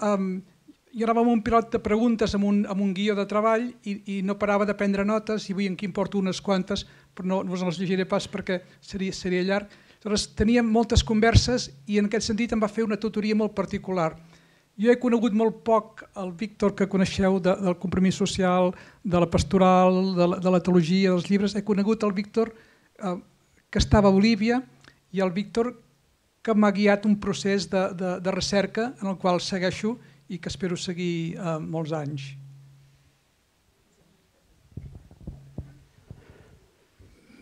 jo anava amb un pilot de preguntes, amb un guió de treball i no parava de prendre notes, i avui aquí em porto unes quantes, però no us les llegiré pas perquè seria llarg. Aleshores, teníem moltes converses i en aquest sentit em va fer una tutoria molt particular. Jo he conegut molt poc el Víctor que coneixeu del compromís social, de la pastoral, de la teologia, dels llibres. He conegut el Víctor que estava a Bolívia i el Víctor que m'ha guiat un procés de recerca en el qual segueixo i que espero seguir molts anys.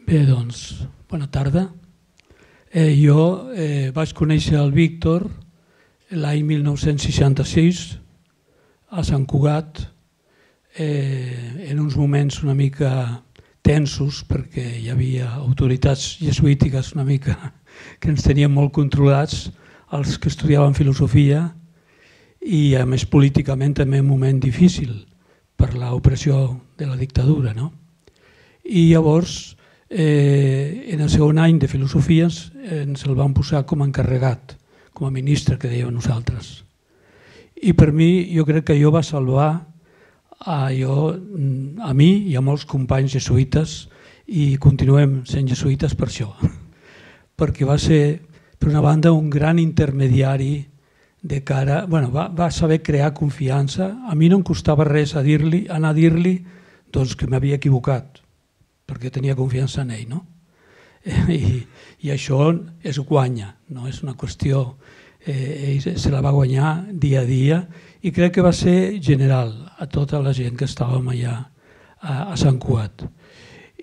Bé, doncs, bona tarda. Jo vaig conèixer el Víctor l'any mil nou-cents seixanta-sis a Sant Cugat, en uns moments una mica tensos perquè hi havia autoritats jesuítiques una mica que ens tenien molt controlats, els que estudiaven filosofia, i a més políticament també un moment difícil per l'opressió de la dictadura. I llavors, en el segon any de filosofia ens el van posar com a encarregat, com a ministre, que dèiem nosaltres. I per mi, jo crec que allò va salvar a mi i a molts companys jesuïtes, i continuem sent jesuïtes per això, perquè va ser, per una banda, un gran intermediari de cara, bueno, va saber crear confiança. A mi no em costava res anar a dir-li que m'havia equivocat, perquè tenia confiança en ell, no? I això es guanya, no és una qüestió, ell se la va guanyar dia a dia i crec que va ser general a tota la gent que estàvem allà a Sant Cugat.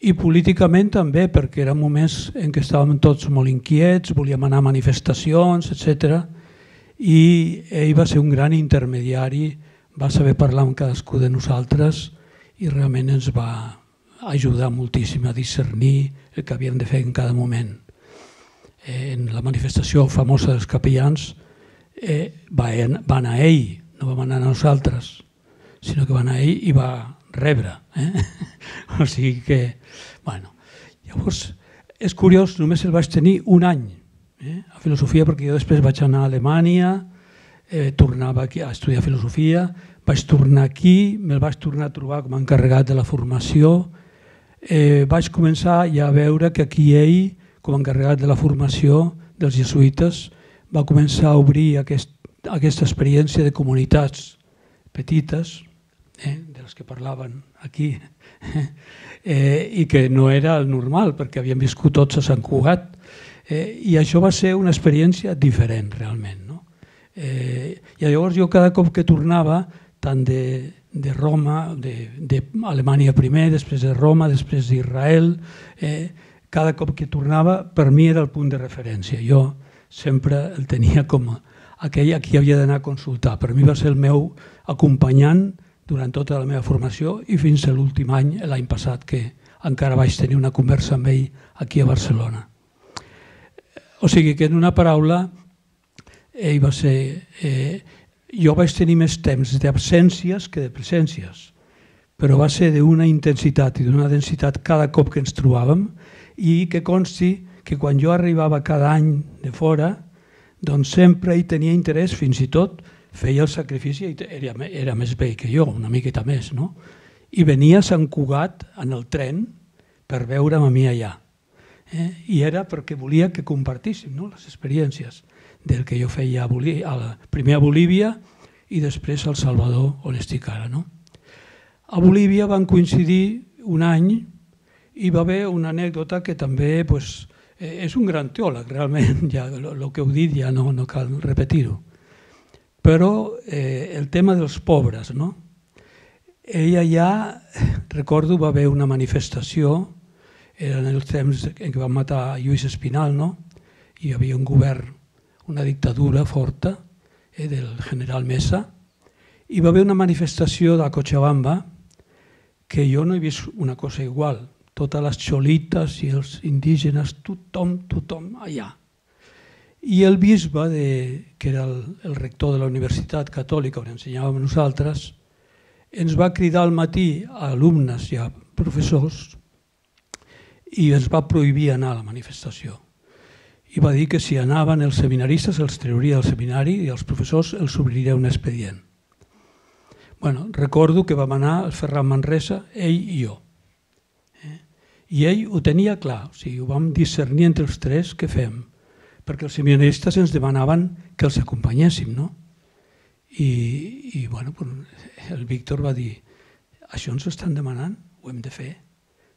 I políticament també, perquè eren moments en què estàvem tots molt inquiets, volíem anar a manifestacions, etcètera, i ell va ser un gran intermediari, va saber parlar amb cadascú de nosaltres i realment ens va ajudar moltíssim a discernir el que havíem de fer en cada moment. En la manifestació famosa dels capellans va anar ell, no vam anar nosaltres, sinó que va anar ell i va rebre. O sigui que, bueno, llavors és curiós, només el vaig tenir un any a filosofia, perquè jo després vaig anar a Alemanya, tornava aquí a estudiar filosofia, vaig tornar aquí, me'l vaig tornar a trobar com a encarregat de la formació, vaig començar ja a veure que aquí ell, com a encarregat de la formació dels jesuïtes, va començar a obrir aquesta experiència de comunitats petites, de dels que parlaven aquí, eh, i que no era el normal, perquè havíem viscut tots a Sant Cugat, eh, i això va ser una experiència diferent, realment. No? Eh, I llavors jo cada cop que tornava, tant de, de Roma, d'Alemanya primer, després de Roma, després d'Israel, eh, cada cop que tornava, per mi era el punt de referència. Jo sempre el tenia com aquell a qui havia d'anar a consultar. Per mi va ser el meu acompanyant durant tota la meva formació i fins a l'últim any, l'any passat, que encara vaig tenir una conversa amb ell aquí a Barcelona. O sigui que en una paraula, ell va ser... Eh, jo vaig tenir més temps d'absències que de presències, però va ser d'una intensitat i d'una densitat cada cop que ens trobàvem, i que consti que quan jo arribava cada any de fora, doncs sempre hi tenia interès, fins i tot feia el sacrifici, era, era més vell que jo, una miqueta més, no? I venia a Sant Cugat en el tren per veure'm a mi allà. Eh? I era perquè volia que compartíssim, no?, les experiències del que jo feia a Bolívia, a la, primer a Bolívia i després al Salvador, on estic ara. No? A Bolívia van coincidir un any i va haver una anècdota que també pues, eh, és un gran teòleg, realment, ja, el que heu dit ja no, no cal repetir-ho. Però eh, el tema dels pobres, no? Ella ja, recordo, va haver una manifestació, eren els temps en què van matar Lluís Espinal, no? Hi havia un govern, una dictadura forta eh, del general Mesa, i va haver una manifestació de Cochabamba que jo no he vist una cosa igual. Totes les xolites i els indígenes, tothom, tothom allà. I el bisbe, de, que era el, el rector de la Universitat Catòlica on ensenyàvem nosaltres, ens va cridar al matí a alumnes i a professors i ens va prohibir anar a la manifestació. I va dir que si anaven els seminaristes els trauria del seminari i els professors els obriria un expedient. Bueno, recordo que vam anar al Ferran Manresa, ell i jo. Eh? I ell ho tenia clar, o sigui, ho vam discernir entre els tres, què fem? Perquè els seminaristes ens demanaven que els acompanyéssim, no? I, i bueno, el Víctor va dir, això ens ho estan demanant, ho hem de fer.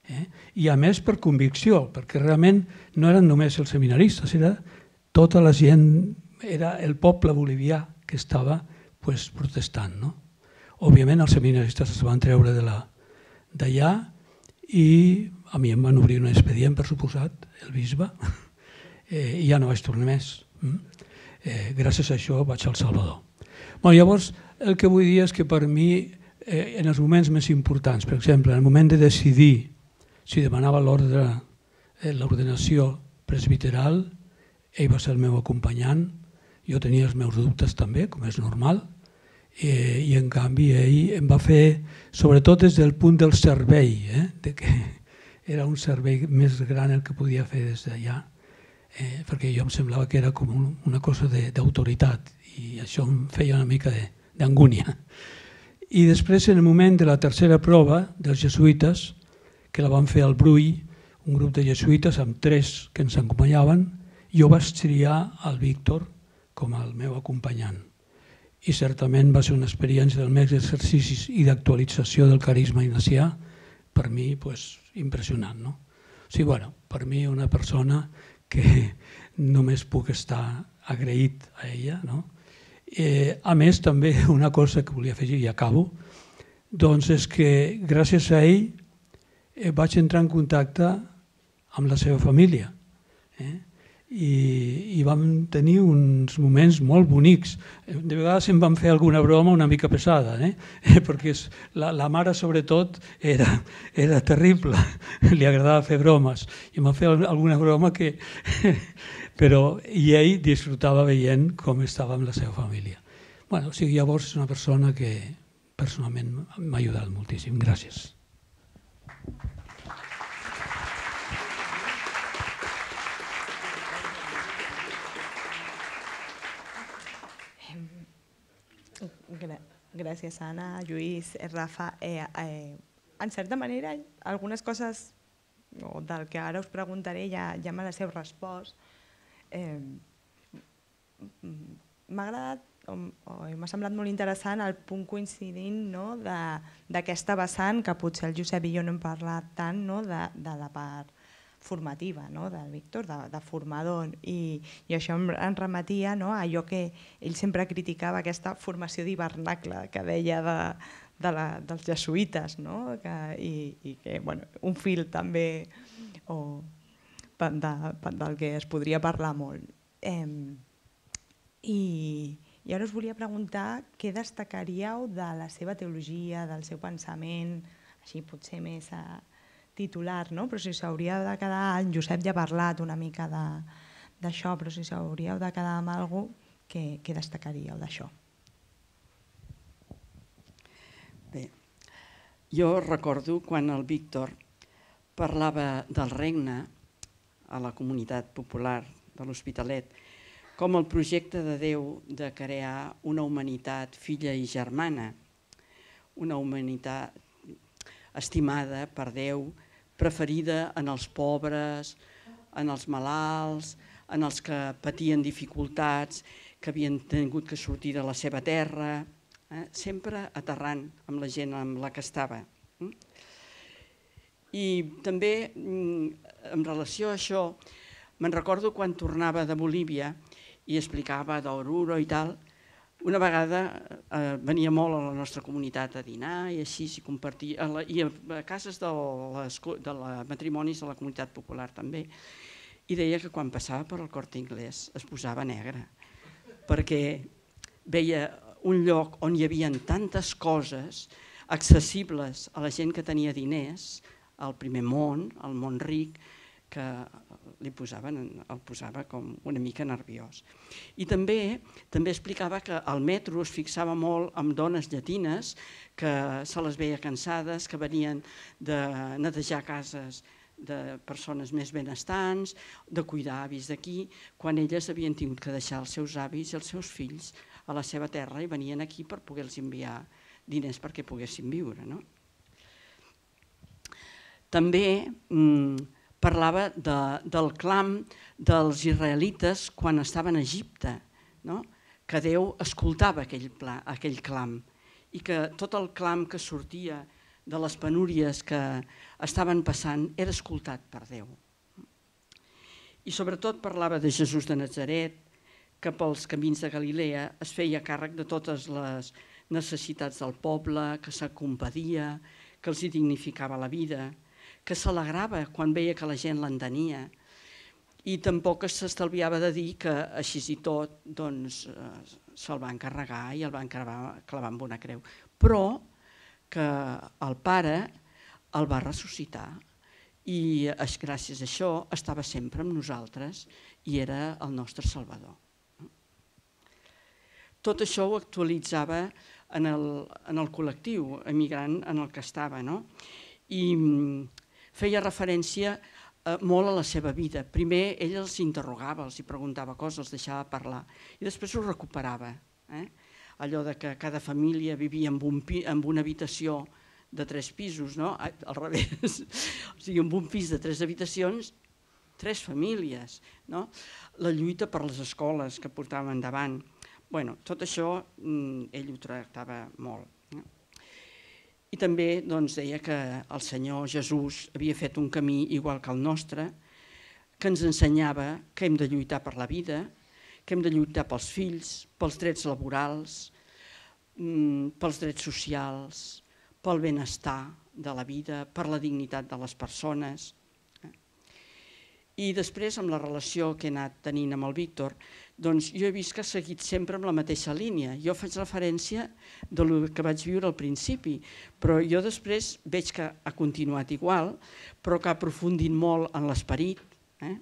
Eh? I a més per convicció, perquè realment no eren només els seminaristes, era tota la gent, era el poble bolivià que estava pues, protestant. No? Òbviament els seminaristes es van treure d'allà i a mi em van obrir un expedient, per suposat, el bisbe, eh, i ja no vaig tornar més. Eh, gràcies a això vaig al Salvador. Bueno, llavors, el que vull dir és que per mi, eh, en els moments més importants, per exemple, en el moment de decidir si demanava l'ordre, l'ordenació presbiteral, ell va ser el meu acompanyant, jo tenia els meus dubtes també, com és normal, eh, i en canvi ell em va fer, sobretot des del punt del servei, eh, de que era un servei més gran el que podia fer des d'allà, eh, perquè jo em semblava que era com un, una cosa d'autoritat i això em feia una mica d'angúnia. I després, en el moment de la tercera prova dels jesuïtes, que la van fer al Brull, un grup de jesuïtes amb tres que ens acompanyaven, jo vaig triar el Víctor com el meu acompanyant. I certament va ser una experiència dels meus exercicis i d'actualització del carisma ignacià, per mi pues, impressionant. No? O sigui, bueno, per mi una persona que només puc estar agraït a ella. No? Eh, a més, també una cosa que volia afegir i acabo, doncs és que gràcies a ell vaig entrar en contacte amb la seva família eh? I, i vam tenir uns moments molt bonics. De vegades em van fer alguna broma una mica pesada, eh? perquè la, la mare sobretot era, era terrible, li agradava fer bromes i em van fer alguna broma que... però i ell disfrutava veient com estava amb la seva família. Bueno, o sigui, llavors és una persona que personalment m'ha ajudat moltíssim. Gràcies. Gràcies, Anna, Lluís, Rafa. Eh, eh, en certa manera, algunes coses del que ara us preguntaré ja, ja me les heu respost. Eh, M'ha agradat m'ha semblat molt interessant el punt coincidint d'aquesta vessant, que potser el Josep i jo no hem parlat tant, de la part formativa del Víctor, de formador, i això em remetia a allò que ell sempre criticava, aquesta formació d'hivernacle que deia dels jesuïtes, i que un fil també del que es podria parlar molt. I ara us volia preguntar què destacaríeu de la seva teologia, del seu pensament, així potser més titular, però si s'hauria de quedar, en Josep ja ha parlat una mica d'això, però si s'hauríeu de quedar amb alguna cosa, què destacaríeu d'això? Bé, jo recordo quan el Víctor parlava del regne a la comunitat popular de l'Hospitalet, com el projecte de Déu de crear una humanitat filla i germana, una humanitat estimada per Déu, preferida en els pobres, en els malalts, en els que patien dificultats, que havien tingut que sortir de la seva terra, sempre aterrant amb la gent amb la que estava. I també, en relació a això, me'n recordo quan tornava de Bolívia i explicava d'Oruro i tal, una vegada venia molt a la nostra comunitat a dinar i així, i a cases de matrimonis de la comunitat popular també, i deia que quan passava per el Corte Inglés es posava negre, perquè veia un lloc on hi havia tantes coses accessibles a la gent que tenia diners, al primer món, al món ric, que li posaven, el posava com una mica nerviós. I també també explicava que al metro es fixava molt en dones llatines que se les veia cansades, que venien de netejar cases de persones més benestants, de cuidar avis d'aquí, quan elles havien tingut que deixar els seus avis i els seus fills a la seva terra i venien aquí per poder-los enviar diners perquè poguessin viure. També parlava del clam dels israelites quan estaven a Egipte, que Déu escoltava aquell clam i que tot el clam que sortia de les penúries que estaven passant era escoltat per Déu. I sobretot parlava de Jesús de Natzaret, que pels camins de Galilea es feia càrrec de totes les necessitats del poble, que s'acompadia, que els dignificava la vida, que s'alegrava quan veia que la gent l'entenia i tampoc s'estalviava de dir que així i tot se'l van carregar i el van clavar amb una creu, però que el Pare el va ressuscitar i gràcies a això estava sempre amb nosaltres i era el nostre Salvador. Tot això ho actualitzava en el col·lectiu emigrant en el que estava, i feia referència molt a la seva vida. Primer ell els interrogava, els preguntava coses, els deixava parlar i després ho recuperava. Allò que cada família vivia en una habitació de tres pisos, al revés, o sigui, en un pis de tres habitacions, tres famílies, la lluita per les escoles que portava endavant. Tot això ell ho tractava molt. I també deia que el Senyor Jesús havia fet un camí igual que el nostre, que ens ensenyava que hem de lluitar per la vida, que hem de lluitar pels fills, pels drets laborals, pels drets socials, pel benestar de la vida, per la dignitat de les persones. I després, amb la relació que he anat tenint amb el Víctor, doncs jo he vist que ha seguit sempre amb la mateixa línia. Jo faig referència del que vaig viure al principi, però jo després veig que ha continuat igual, però que ha aprofundit molt en l'esperit, ha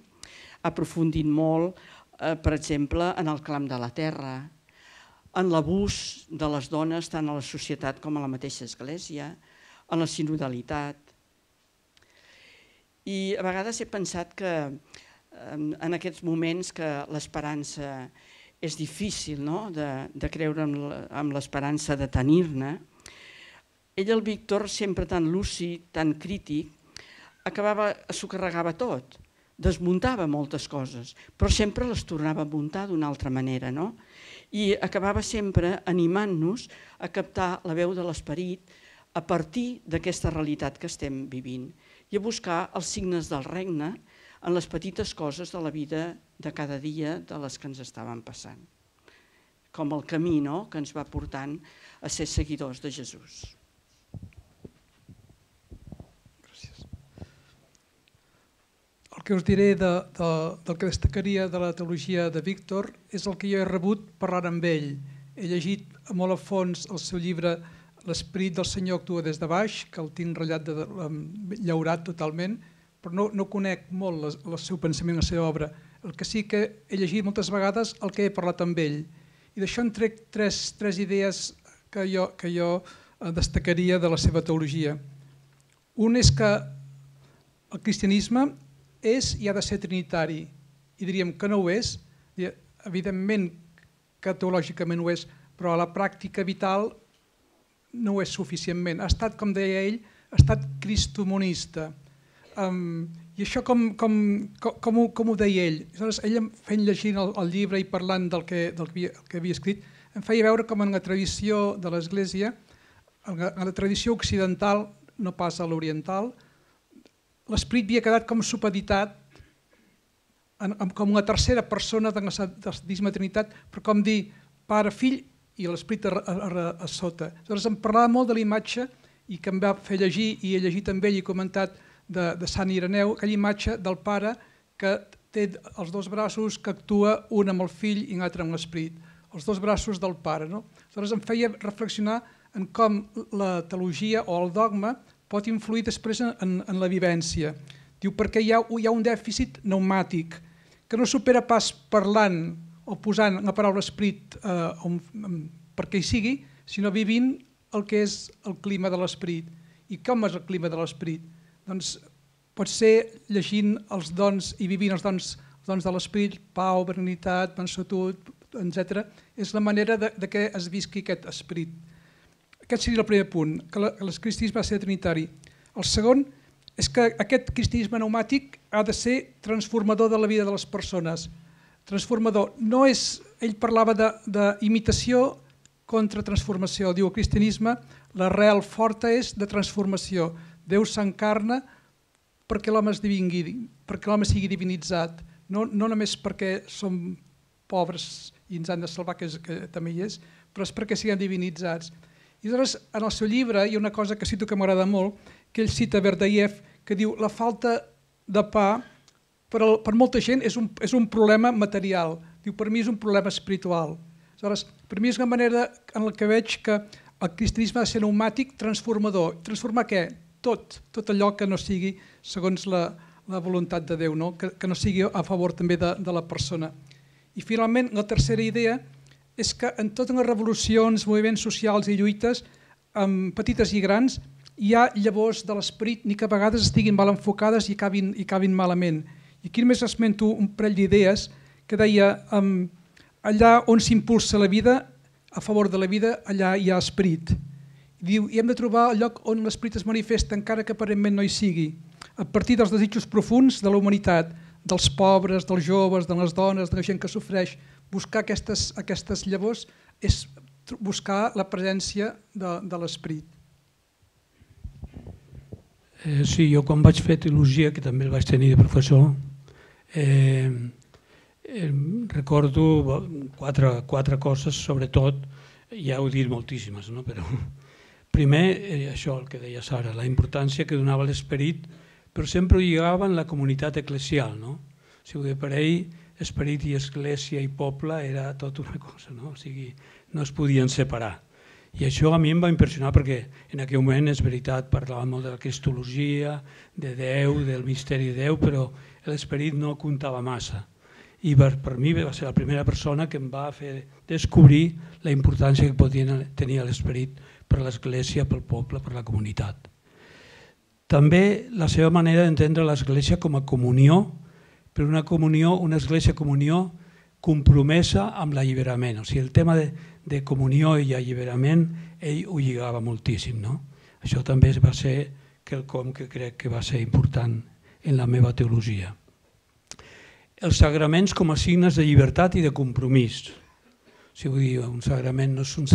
aprofundit molt, per exemple, en el clam de la terra, en l'abús de les dones tant a la societat com a la mateixa església, en la sinodalitat. I a vegades he pensat que en aquests moments que l'esperança és difícil de creure en l'esperança de tenir-ne, ell, el Víctor, sempre tan lúcid, tan crític, acabava, s'ho carregava tot, desmuntava moltes coses, però sempre les tornava a muntar d'una altra manera, no? I acabava sempre animant-nos a captar la veu de l'esperit a partir d'aquesta realitat que estem vivint i a buscar els signes del regne en les petites coses de la vida de cada dia de les que ens estaven passant, com el camí, no?, que ens va portant a ser seguidors de Jesús. Gràcies. El que us diré de, de, del que destacaria de la teologia de Víctor és el que jo he rebut parlant amb ell. He llegit molt a fons el seu llibre L'esperit del Senyor actua des de baix, que el tinc ratllat, de, de, llaurat totalment, però no, no conec molt la, el seu pensament, la seva obra. El que sí que he llegit moltes vegades el que he parlat amb ell. I d'això en trec tres, tres idees que jo, que jo destacaria de la seva teologia. Un és que el cristianisme és i ha de ser trinitari, i diríem que no ho és, evidentment que teològicament ho és, però a la pràctica vital no ho és suficientment. Ha estat, com deia ell, ha estat cristomonista. Um, I això com, com, com, com, ho, com ho deia ell? Aleshores, ell fent llegint el, el llibre i parlant del que, del que, havia, que havia escrit, em feia veure com en la tradició de l'Església, en la tradició occidental, no pas a l'oriental, l'esperit havia quedat com supeditat en, en, com una tercera persona de la Santíssima Trinitat, però com dir pare, fill i l'esperit a, a, a, a sota. Aleshores em parlava molt de la imatge i que em va fer llegir, i he llegit amb ell i comentat de, de Sant Ireneu, aquella imatge del pare que té els dos braços, que actua un amb el fill i un altre amb l'esperit. Els dos braços del pare. No? Aleshores em feia reflexionar en com la teologia o el dogma pot influir després en, en la vivència. Diu, perquè hi ha, hi ha un dèficit pneumàtic que no supera pas parlant o posant la paraula esperit eh, perquè hi sigui, sinó vivint el que és el clima de l'esperit. I com és el clima de l'esperit? Doncs pot ser llegint els dons i vivint els dons, els dons de l'esperit, pau, berenitat, mansuetud, etcètera. És la manera de, de que es visqui aquest esperit. Aquest seria el primer punt, que el cristianisme ha de ser trinitari. El segon és que aquest cristianisme pneumàtic ha de ser transformador de la vida de les persones. Transformador. No és, ell parlava d'imitació contra transformació. Diu, el cristianisme, l'arrel forta és de transformació. Déu s'encarna perquè l'home esdevingui, perquè l'home sigui divinitzat. No, no només perquè som pobres i ens han de salvar, que, és, que també hi és, però és perquè siguem divinitzats. I llavors, en el seu llibre hi ha una cosa que cito que m'agrada molt, que ell cita Berdayev, que diu la falta de pa per, el, per molta gent és un, és un problema material. Diu, per mi és un problema espiritual. Aleshores, per mi és una manera en la que veig que el cristianisme ha de ser pneumàtic, transformador. Transformar què? Tot, tot allò que no sigui segons la, la voluntat de Déu, no? Que, que no sigui a favor també de, de la persona. I finalment, la tercera idea és que en totes les revolucions, moviments socials i lluites, um, petites i grans, hi ha llavors de l'esperit, ni que a vegades estiguin mal enfocades i acabin, i acabin malament. I aquí només esmento un parell d'idees que deia, um, allà on s'impulsa la vida, a favor de la vida, allà hi ha esperit. Diu, i hem de trobar el lloc on l'esperit es manifesta, encara que aparentment no hi sigui, a partir dels desitjos profuns de la humanitat, dels pobres, dels joves, de les dones, de la gent que sofreix. Buscar aquestes, aquestes llavors és buscar la presència de, de l'esperit. Eh, sí, jo quan vaig fer teologia, que també el vaig tenir de professor, eh, eh, recordo quatre, quatre coses, sobretot, ja heu dit moltíssimes, no? Però primer, eh, això el que deia Sara, la importància que donava l'esperit, però sempre ho lligava en la comunitat eclesial, no? O sigui, per ell, esperit i església i poble era tot una cosa, no? O sigui, no es podien separar. I això a mi em va impressionar perquè en aquell moment, és veritat, parlàvem molt de la cristologia, de Déu, del misteri de Déu, però l'esperit no comptava massa. I per, per mi va ser la primera persona que em va fer descobrir la importància que podia tenir l'esperit per l'església, pel poble, per la comunitat. També la seva manera d'entendre l'església com a comunió, però una comunió, una església comunió compromesa amb l'alliberament. O sigui, el tema de, de comunió i alliberament, ell ho lligava moltíssim, no? Això també va ser quelcom que crec que va ser important en la meva teologia. els sagraments com a signes de llibertat i de compromís. Si vull dir, un sagrament no és un,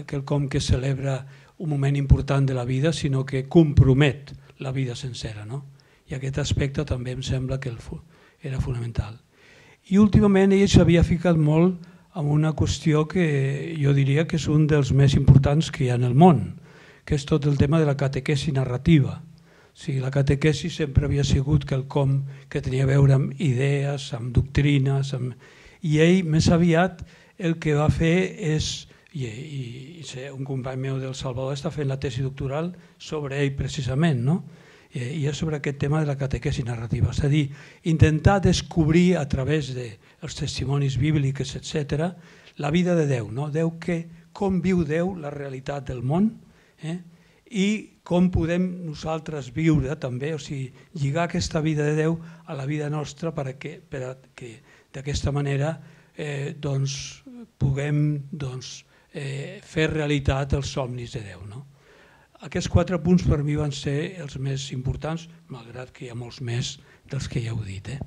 quelcom que celebra un moment important de la vida, sinó que compromet la vida sencera, no? I aquest aspecte també em sembla que era fonamental. I últimament ell s'havia ficat molt en una qüestió que jo diria que és un dels més importants que hi ha en el món, que és tot el tema de la catequesi narrativa. O sigui, la catequesi sempre havia sigut quelcom que tenia a veure amb idees, amb doctrines, amb... i ell més aviat el que va fer és, i, i, i un company meu del Salvador està fent la tesi doctoral sobre ell precisament, no? I és sobre aquest tema de la catequesi narrativa, és a dir, intentar descobrir a través dels testimonis bíblics, etcètera, la vida de Déu, no? Déu que, com viu Déu la realitat del món, eh? I com podem nosaltres viure també, o sigui, lligar aquesta vida de Déu a la vida nostra perquè, perquè d'aquesta manera eh, doncs, puguem doncs, eh, fer realitat els somnis de Déu, no? Aquests quatre punts per mi van ser els més importants, malgrat que hi ha molts més dels que ja heu dit. Eh?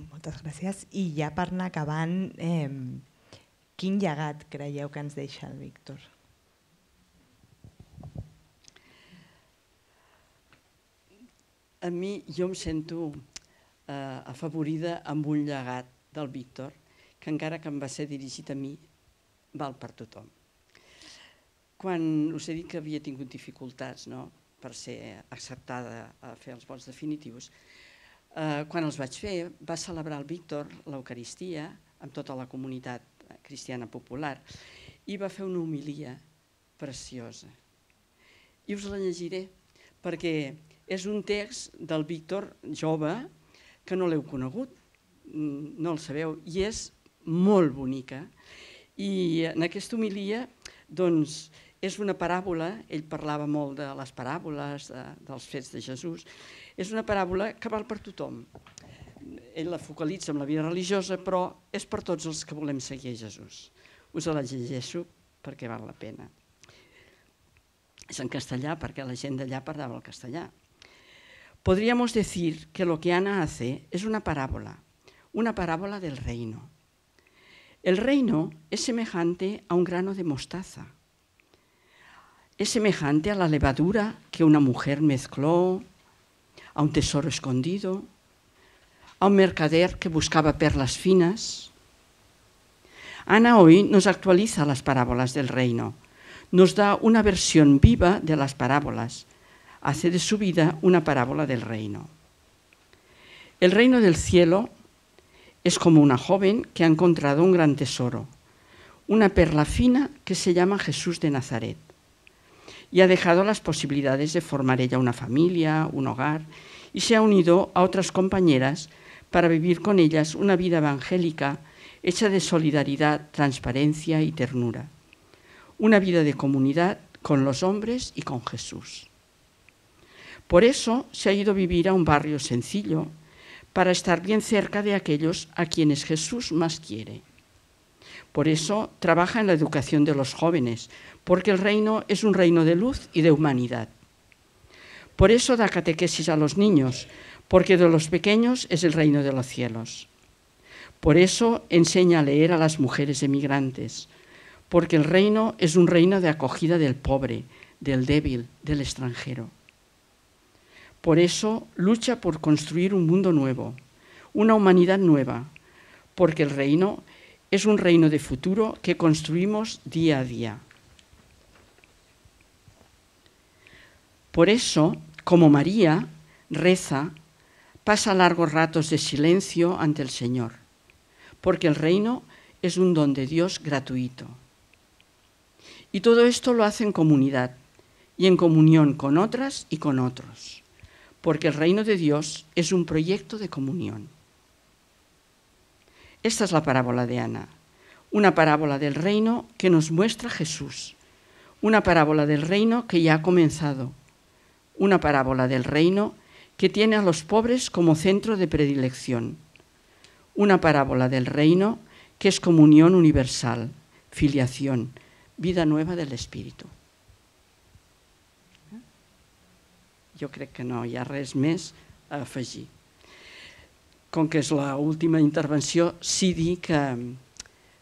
Moltes gràcies. I ja per anar acabant, eh, quin llegat creieu que ens deixa el Víctor? A mi, jo em sento eh, afavorida amb un llegat del Víctor, que encara que em va ser dirigit a mi, val per tothom. Quan us he dit que havia tingut dificultats, no?, per ser acceptada a fer els vots definitius, eh, quan els vaig fer va celebrar el Víctor l'Eucaristia amb tota la comunitat cristiana popular i va fer una homilia preciosa. I us la llegiré perquè és un text del Víctor jove que no l'heu conegut, no el sabeu, i és molt bonica. I en aquesta homilia doncs, és una paràbola, ell parlava molt de les paràboles, de, dels fets de Jesús, és una paràbola que val per tothom. Ell la focalitza en la vida religiosa, però és per tots els que volem seguir a Jesús. Us la llegeixo perquè val la pena. És en castellà perquè la gent d'allà parlava el castellà. Podríamos decir que lo que Ana hace es una parábola, una parábola del reino. El reino es semejante a un grano de mostaza. Es semejante a la levadura que una mujer mezcló, a un tesoro escondido, a un mercader que buscaba perlas finas. Ana hoy nos actualiza las parábolas del reino, nos da una versión viva de las parábolas, hace de su vida una parábola del reino. El reino del cielo es como una joven que ha encontrado un gran tesoro, una perla fina que se llama Jesús de Nazaret, y ha dejado las posibilidades de formar ella una familia, un hogar, y se ha unido a otras compañeras para vivir con ellas una vida evangélica hecha de solidaridad, transparencia y ternura, una vida de comunidad con los hombres y con Jesús. Por eso se ha ido a vivir a un barrio sencillo, para estar bien cerca de aquellos a quienes Jesús más quiere. Por eso trabaja en la educación de los jóvenes, porque el reino es un reino de luz y de humanidad. Por eso da catequesis a los niños, porque de los pequeños es el reino de los cielos. Por eso enseña a leer a las mujeres emigrantes, porque el reino es un reino de acogida del pobre, del débil, del extranjero. Por eso lucha por construir un mundo nuevo, una humanidad nueva, porque el reino es un reino de futuro que construimos día a día. Por eso, como María, reza, pasa largos ratos de silencio ante el Señor, porque el reino es un don de Dios gratuito. Y todo esto lo hace en comunidad y en comunión con otras y con otros, porque el reino de Dios es un proyecto de comunión. Esta es la parábola de Ana, una parábola del reino que nos muestra Jesús, una parábola del reino que ya ha comenzado, una parábola del reino que tiene a los pobres como centro de predilección, una parábola del reino que es comunión universal, filiación, vida nueva del Espíritu. Jo crec que no hi ha res més a afegir. Com que és l'última intervenció, sí dir que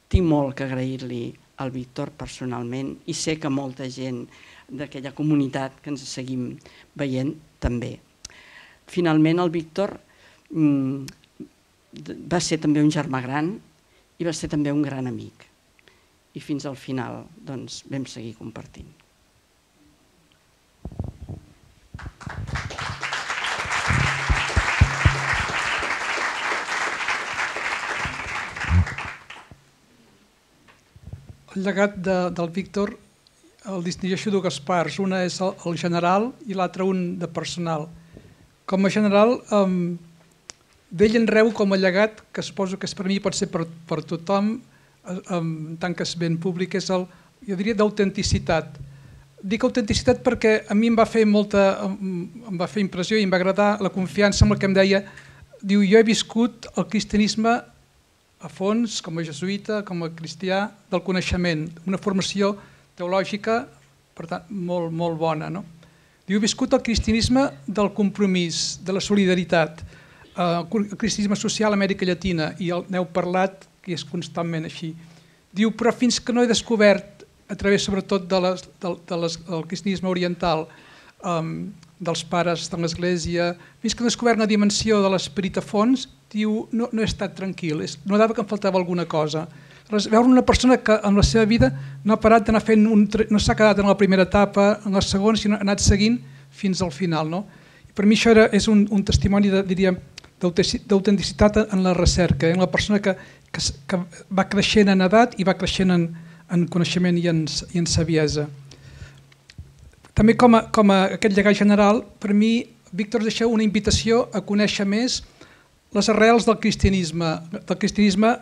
tinc molt que agrair-li al Víctor personalment i sé que molta gent d'aquella comunitat que ens seguim veient també. Finalment, el Víctor va ser també un germà gran i va ser també un gran amic. I fins al final doncs, vam seguir compartint. El llegat de, del Víctor el distingeixo dues parts. Una és el, el general i l'altra un de personal. Com a general, um, d'ell en reu com a llegat, que suposo que per mi pot ser per, per tothom, um, tant que és ben públic, és el, jo diria, d'autenticitat. Dic autenticitat perquè a mi em va fer molta, em va fer impressió i em va agradar la confiança amb la que em deia, diu, jo he viscut el cristianisme a fons, com a jesuïta, com a cristià, del coneixement, una formació teològica, per tant, molt, molt bona. No? Diu, he viscut el cristianisme del compromís, de la solidaritat, el cristianisme social a Amèrica Llatina, i n'heu parlat, que és constantment així. Diu, però fins que no he descobert, a través sobretot de les, de, de les, del cristianisme oriental, um, dels pares de l'Església, fins que he descobert una dimensió de l'esperit a fons, diu, no, no he estat tranquil, no dava que em faltava alguna cosa. Veure una persona que en la seva vida no ha parat d'anar fent, un, no s'ha quedat en la primera etapa, en la segona, sinó ha anat seguint fins al final. No? I per mi això era, és un, un testimoni de, diríem, d'autenticitat en la recerca, en la persona que, que, que va creixent en edat i va creixent en, en coneixement i en, i en saviesa. També com a, com a aquest llegat general, per mi, Víctor deixa una invitació a conèixer més les arrels del cristianisme, del cristianisme,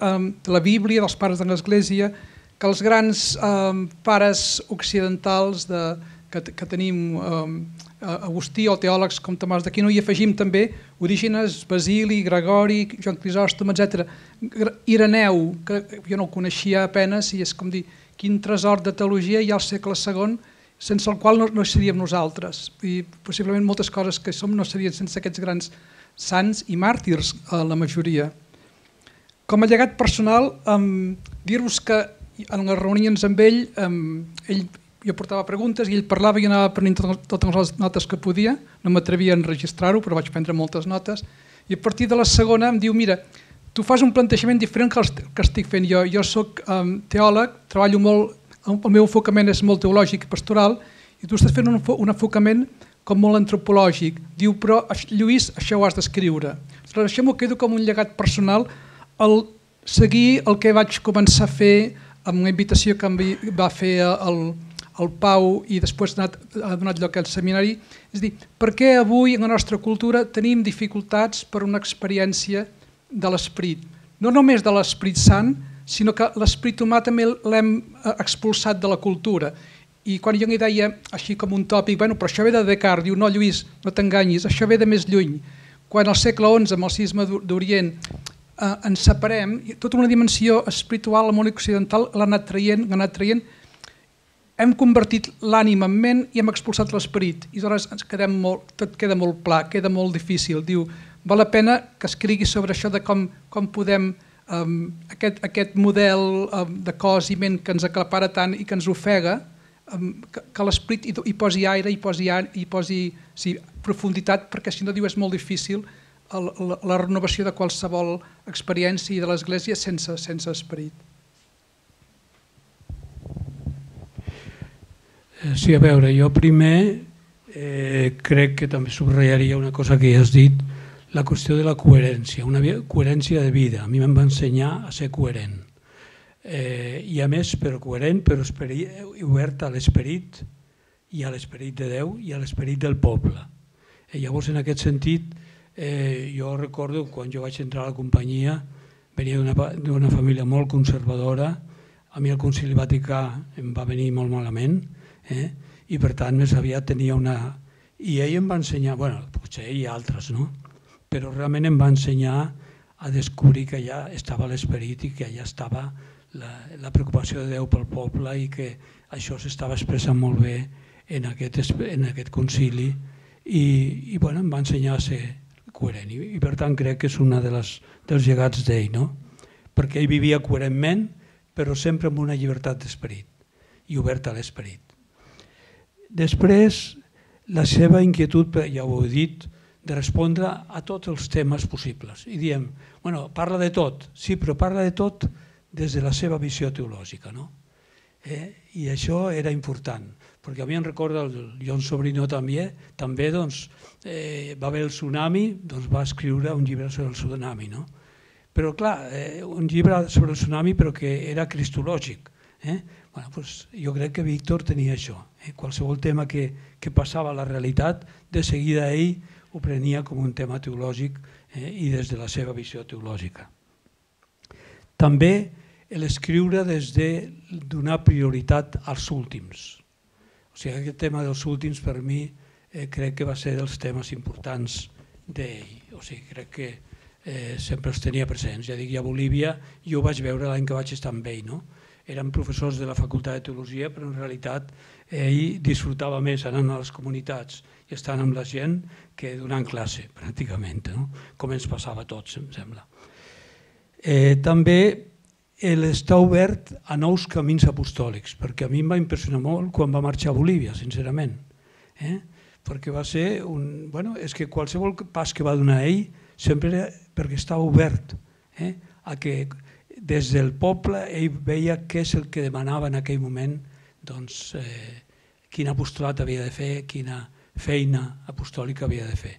de la Bíblia, dels pares de l'Església, que els grans pares occidentals que tenim, Agustí o teòlegs com Tomàs d'Aquino, i afegim també Orígenes, Basili, Gregori, Joan Crisòstom, etcètera. Ireneu, que jo no el coneixia apenas, i és com dir, quin tresor de teologia hi ha al segle segon, sense el qual no seríem nosaltres. I possiblement moltes coses que som no serien sense aquests grans sants i màrtirs, la majoria. Com a llegat personal, dir-vos que en les reunions amb ell, ell jo portava preguntes i ell parlava i jo anava prenent totes les notes que podia, no m'atrevia a enregistrar-ho, però vaig prendre moltes notes, i a partir de la segona em diu, mira, tu fas un plantejament diferent que el que estic fent jo. Jo soc teòleg, treballo molt, el meu enfocament és molt teològic i pastoral, i tu estàs fent un enfocament com molt antropològic. Diu, però Lluís, això ho has d'escriure. Això m'ho quedo com un llegat personal, el seguir el que vaig començar a fer amb una invitació que em va fer el el Pau i després ha donat lloc al seminari, és a dir, per què avui en la nostra cultura tenim dificultats per una experiència de l'esperit? No només de l'esperit sant, sinó que l'esperit humà també l'hem expulsat de la cultura. I quan jo li deia, així com un tòpic, bueno, però això ve de Descartes, diu, no Lluís, no t'enganyis, això ve de més lluny. Quan al segle onze, amb el cisma d'Orient, ens separem, tota una dimensió espiritual al món occidental l'ha anat traient, l'ha anat traient, hem convertit l'ànima en ment i hem expulsat l'esperit. I aleshores ens quedem molt, tot queda molt pla, queda molt difícil. Diu, val la pena que escrigui sobre això de com, com podem, um, aquest, aquest model um, de cos i ment que ens aclapara tant i que ens ofega, um, que, que l'esperit hi, hi posi aire, hi posi, hi posi sí, profunditat, perquè si no, diu, és molt difícil el, la, la renovació de qualsevol experiència i de l'Església sense, sense esperit. Sí, a veure, jo primer eh, crec que també subratllaria una cosa que ja has dit, la qüestió de la coherència, una coherència de vida. A mi em va ensenyar a ser coherent. Eh, I a més, però coherent, però obert a l'esperit i a l'esperit de Déu i a l'esperit del poble. Eh, llavors, en aquest sentit, eh, jo recordo quan jo vaig entrar a la companyia, venia d'una família molt conservadora, a mi el Concili Vaticà em va venir molt malament, Eh? i per tant més aviat tenia una... I ell em va ensenyar, bueno, potser hi ha altres, no? Però realment em va ensenyar a descobrir que allà estava l'esperit i que allà estava la, la preocupació de Déu pel poble i que això s'estava expressant molt bé en aquest, en aquest concili i, i bueno, em va ensenyar a ser coherent i, i per tant crec que és un de les, dels llegats d'ell, no? Perquè ell vivia coherentment però sempre amb una llibertat d'esperit i obert a l'esperit. Després, la seva inquietud, ja ho he dit, de respondre a tots els temes possibles. I diem, bueno, parla de tot, sí, però parla de tot des de la seva visió teològica, no? Eh? I això era important, perquè a mi em recorda, el Jon Sobrino també, també doncs, eh, va haver el tsunami, doncs va escriure un llibre sobre el tsunami, no? Però clar, eh, un llibre sobre el tsunami però que era cristològic. Eh? Bueno, pues, jo crec que Víctor tenia això. Eh? Qualsevol tema que, que passava a la realitat, de seguida ell ho prenia com un tema teològic eh? i des de la seva visió teològica. També l'escriure des de donar prioritat als últims. O sigui, aquest tema dels últims per mi eh, crec que va ser dels temes importants d'ell. O sigui, crec que eh, sempre els tenia presents. Ja dic, a Bolívia jo ho vaig veure l'any que vaig estar amb ell, no? Eren professors de la Facultat de Teologia, però en realitat ell disfrutava més anant a les comunitats i estant amb la gent que donant classe, pràcticament, no? Com ens passava a tots, em sembla. Eh, també està obert a nous camins apostòlics, perquè a mi em va impressionar molt quan va marxar a Bolívia, sincerament. Eh? Perquè va ser un... Bueno, és que qualsevol pas que va donar ell sempre era perquè estava obert eh? a que des del poble ell veia què és el que demanava en aquell moment, doncs, eh, quin apostolat havia de fer, quina feina apostòlica havia de fer.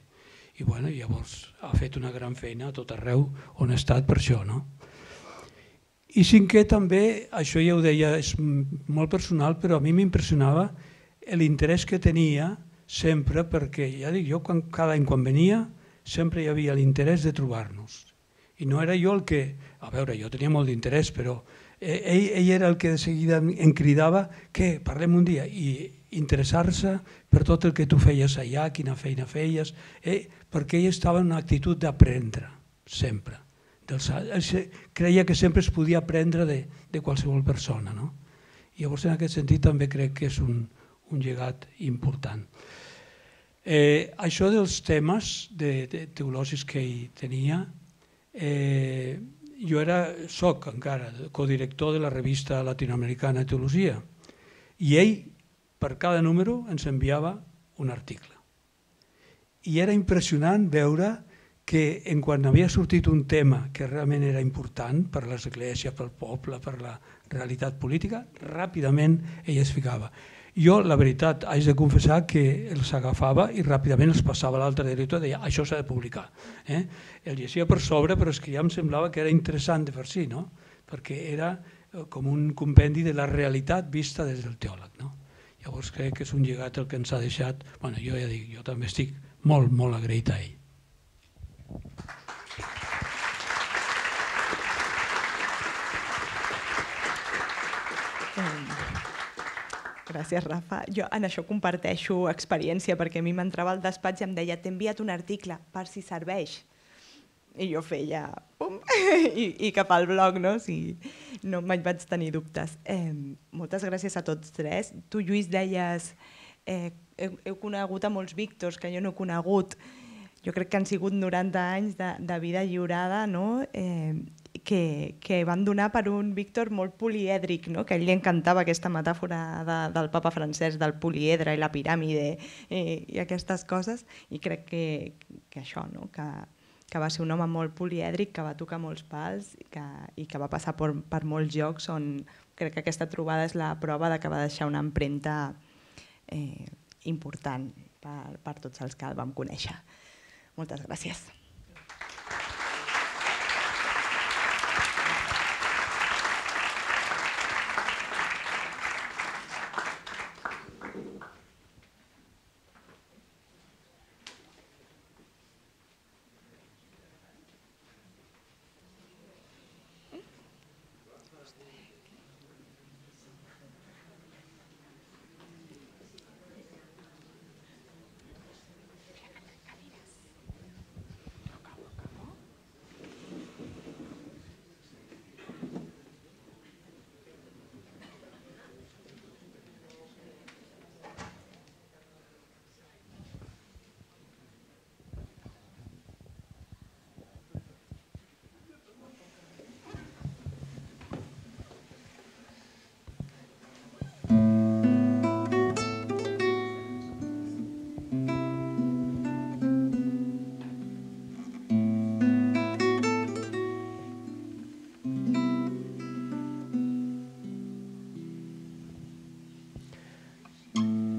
I bueno, llavors ha fet una gran feina a tot arreu on ha estat per això, no? I cinquè també, això ja ho deia, és molt personal, però a mi m'impressionava l'interès que tenia sempre, perquè ja dic, jo quan, cada any quan venia sempre hi havia l'interès de trobar-nos. I no era jo el que, a veure, jo tenia molt d'interès, però ell, ell era el que de seguida em cridava que parlem un dia i interessar-se per tot el que tu feies allà, quina feina feies, eh? perquè ell estava en una actitud d'aprendre, sempre. Creia que sempre es podia aprendre de, de qualsevol persona. No? I llavors en aquest sentit també crec que és un, un llegat important. Eh, això dels temes de, de teològics que ell tenia, Eh, jo era, soc encara codirector de la revista latinoamericana de teologia i ell per cada número ens enviava un article i era impressionant veure que en quan havia sortit un tema que realment era important per l'església, pel poble, per la realitat política, ràpidament ell es ficava. Jo, la veritat, haig de confessar que els agafava i ràpidament els passava a l'altre director i deia, això s'ha de publicar. Eh? El llegia per sobre, però és que ja em semblava que era interessant de per si, no? Perquè era com un compendi de la realitat vista des del teòleg. No? Llavors crec que és un llegat el que ens ha deixat. Bueno, jo ja dic, jo també estic molt, molt agraït a ell. Gràcies, Rafa. Jo en això comparteixo experiència, perquè a mi m'entrava al despatx i em deia t'he enviat un article per si serveix. I jo feia pum, i, i cap al blog, no? Si no me'n vaig tenir dubtes. Eh, moltes gràcies a tots tres. Tu, Lluís, deies eh, heu, heu conegut a molts Víctors que jo no he conegut. Jo crec que han sigut noranta anys de, de vida lliurada, no? Eh, Que, que van donar per un Víctor molt polièdric, no? Que a ell li encantava aquesta metàfora de, del papa francès, del poliedre i la piràmide eh, i aquestes coses, i crec que, que això, no? que, que va ser un home molt polièdric, que va tocar molts pals i que, i que va passar per, per molts llocs on crec que aquesta trobada és la prova de que va deixar una empremta eh, important per, per tots els que el vam conèixer. Moltes gràcies.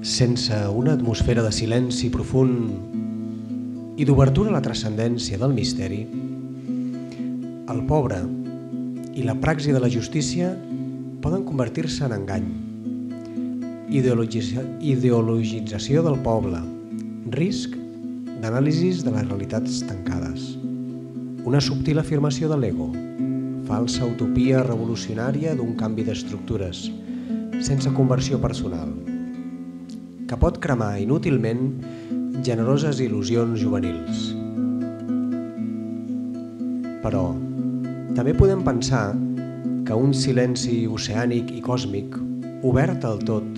sense una atmosfera de silenci profund i d'obertura a la transcendència del misteri, el pobre i la praxi de la justícia poden convertir-se en engany, ideologització del poble, risc d'anàlisis de les realitats tancades, una subtil afirmació de l'ego, falsa utopia revolucionària d'un canvi d'estructures, sense conversió personal, que pot cremar inútilment generoses il·lusions juvenils. Però també podem pensar que un silenci oceànic i còsmic, obert al tot,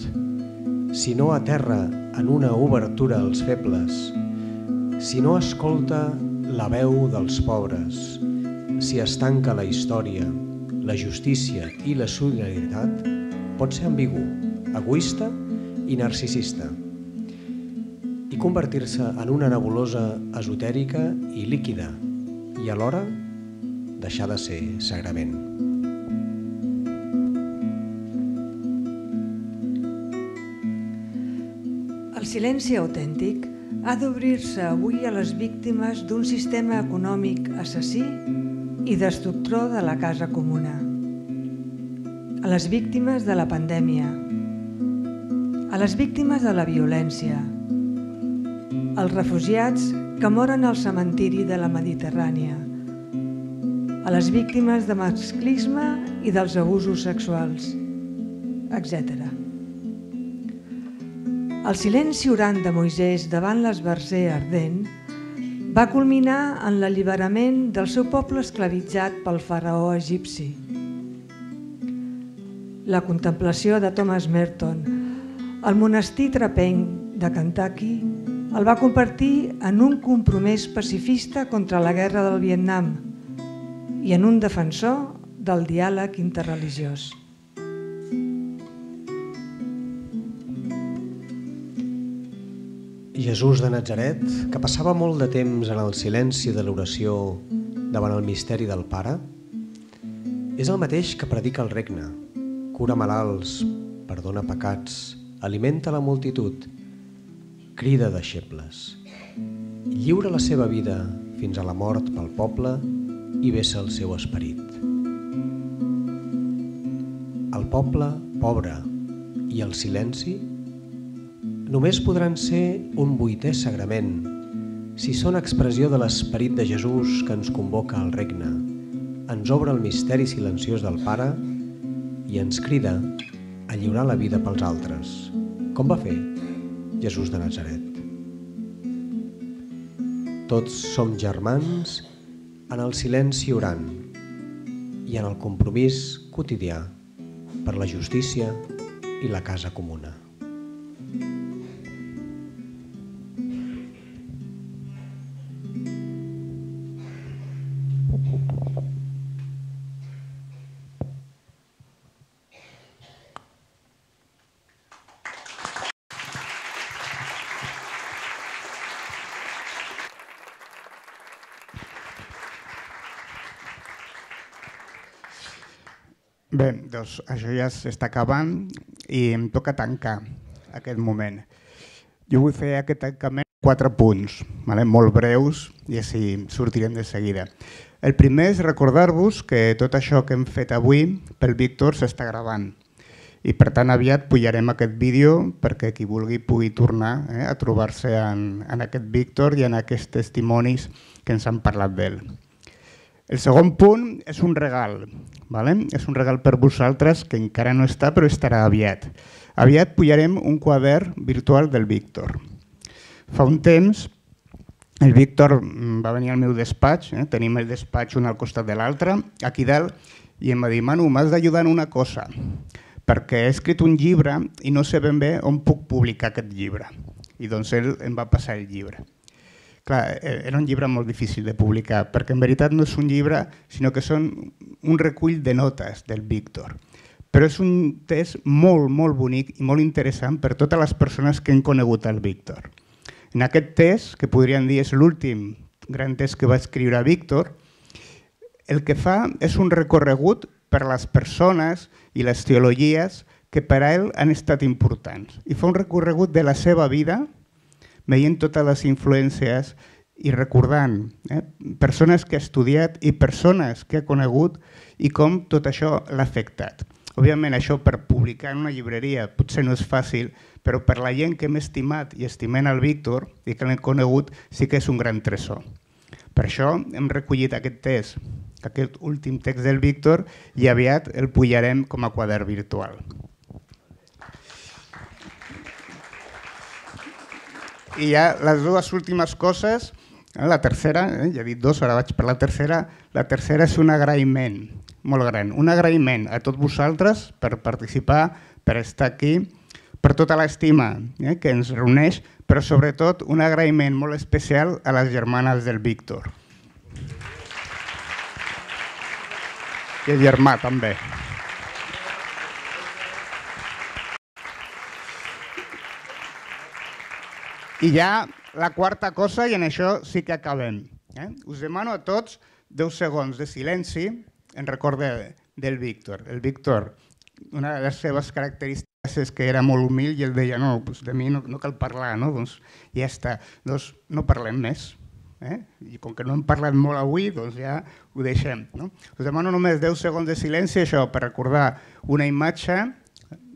si no aterra en una obertura als febles, si no escolta la veu dels pobres, si es tanca la història, la justícia i la solidaritat, pot ser ambigu, egoista i narcisista, i convertir-se en una nebulosa esotèrica i líquida, i alhora deixar de ser sagrament. El silenci autèntic ha d'obrir-se avui a les víctimes d'un sistema econòmic assassí i destructor de la casa comuna, a les víctimes de la pandèmia, a les víctimes de la violència, als refugiats que moren al cementiri de la Mediterrània, a les víctimes de masclisme i dels abusos sexuals, etcètera. El silenci orant de Moisès davant l'esbarzer ardent va culminar en l'alliberament del seu poble esclavitzat pel faraó egipci. La contemplació de Thomas Merton al monestir trapenc de Kentucky el va convertir en un compromès pacifista contra la guerra del Vietnam i en un defensor del diàleg interreligiós. Jesús de Natzaret, que passava molt de temps en el silenci de l'oració davant el misteri del Pare, és el mateix que predica el regne, cura malalts, perdona pecats, alimenta la multitud, crida deixebles, lliura la seva vida fins a la mort pel poble i vessa el seu esperit. El poble pobre i el silenci només podran ser un vuitè sagrament si són expressió de l'esperit de Jesús que ens convoca al regne, ens obre el misteri silenciós del Pare i ens crida a lliurar la vida pels altres, com va fer Jesús de Natzaret. Tots som germans en el silenci orant i en el compromís quotidià per la justícia i la casa comuna. Bé, doncs això ja s'està acabant i em toca tancar aquest moment. Jo vull fer aquest tancament en quatre punts, molt breus i així sortirem de seguida. El primer és recordar-vos que tot això que hem fet avui pel Víctor s'està gravant i per tant aviat pujarem aquest vídeo perquè qui vulgui pugui tornar a trobar-se en aquest Víctor i en aquests testimonis que ens han parlat d'ell. El segon punt és un regal, és un regal per vosaltres que encara no està però estarà aviat. Aviat pujarem un quadern virtual del Víctor. Fa un temps el Víctor va venir al meu despatx, tenim el despatx un al costat de l'altre, aquí dalt, i em va dir, Manu, m'has d'ajudar en una cosa, perquè he escrit un llibre i no sé ben bé on puc publicar aquest llibre. I doncs ell em va passar el llibre. Clar, era un llibre molt difícil de publicar, perquè en veritat no és un llibre, sinó que són un recull de notes del Víctor. Però és un test molt, molt bonic i molt interessant per totes les persones que han conegut el Víctor. En aquest test, que podríem dir és l'últim gran test que va escriure Víctor, el que fa és un recorregut per les persones i les teologies que per a ell han estat importants. I fa un recorregut de la seva vida, veient totes les influències i recordant eh, persones que ha estudiat i persones que ha conegut i com tot això l'ha afectat. Òbviament, això per publicar en una llibreria potser no és fàcil, però per la gent que hem estimat i estimem el Víctor i que l'hem conegut, sí que és un gran tresor. Per això hem recollit aquest text, aquest últim text del Víctor, i aviat el pujarem com a quadern virtual. I ja les dues últimes coses, la tercera, eh, ja he dit dos, ara vaig per la tercera, la tercera és un agraïment molt gran, un agraïment a tots vosaltres per participar, per estar aquí, per tota l'estima eh, que ens reuneix, però sobretot un agraïment molt especial a les germanes del Víctor. I el germà també. I ja la quarta cosa, i en això sí que acabem. Eh? Us demano a tots deu segons de silenci en record de, del Víctor. El Víctor, una de les seves característiques és que era molt humil i ell deia no, doncs de mi no, no cal parlar, no? Doncs ja està, doncs no parlem més. Eh? I com que no hem parlat molt avui, doncs ja ho deixem. No? Us demano només deu segons de silenci, això, per recordar una imatge,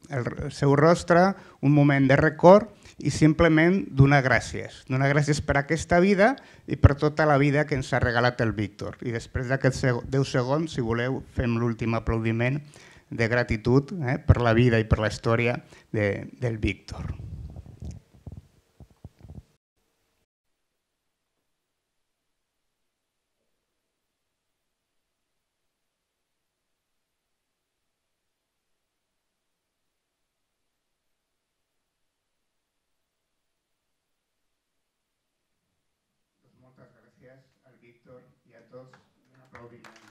el seu rostre, un moment de record, i simplement donar gràcies. Donar gràcies per aquesta vida i per tota la vida que ens ha regalat el Víctor. I després d'aquests deu segons, si voleu, fem l'últim aplaudiment de gratitud eh, per la vida i per la història de, del Víctor. Moltes gràcies al Víctor i a tots. Un aplaudiment.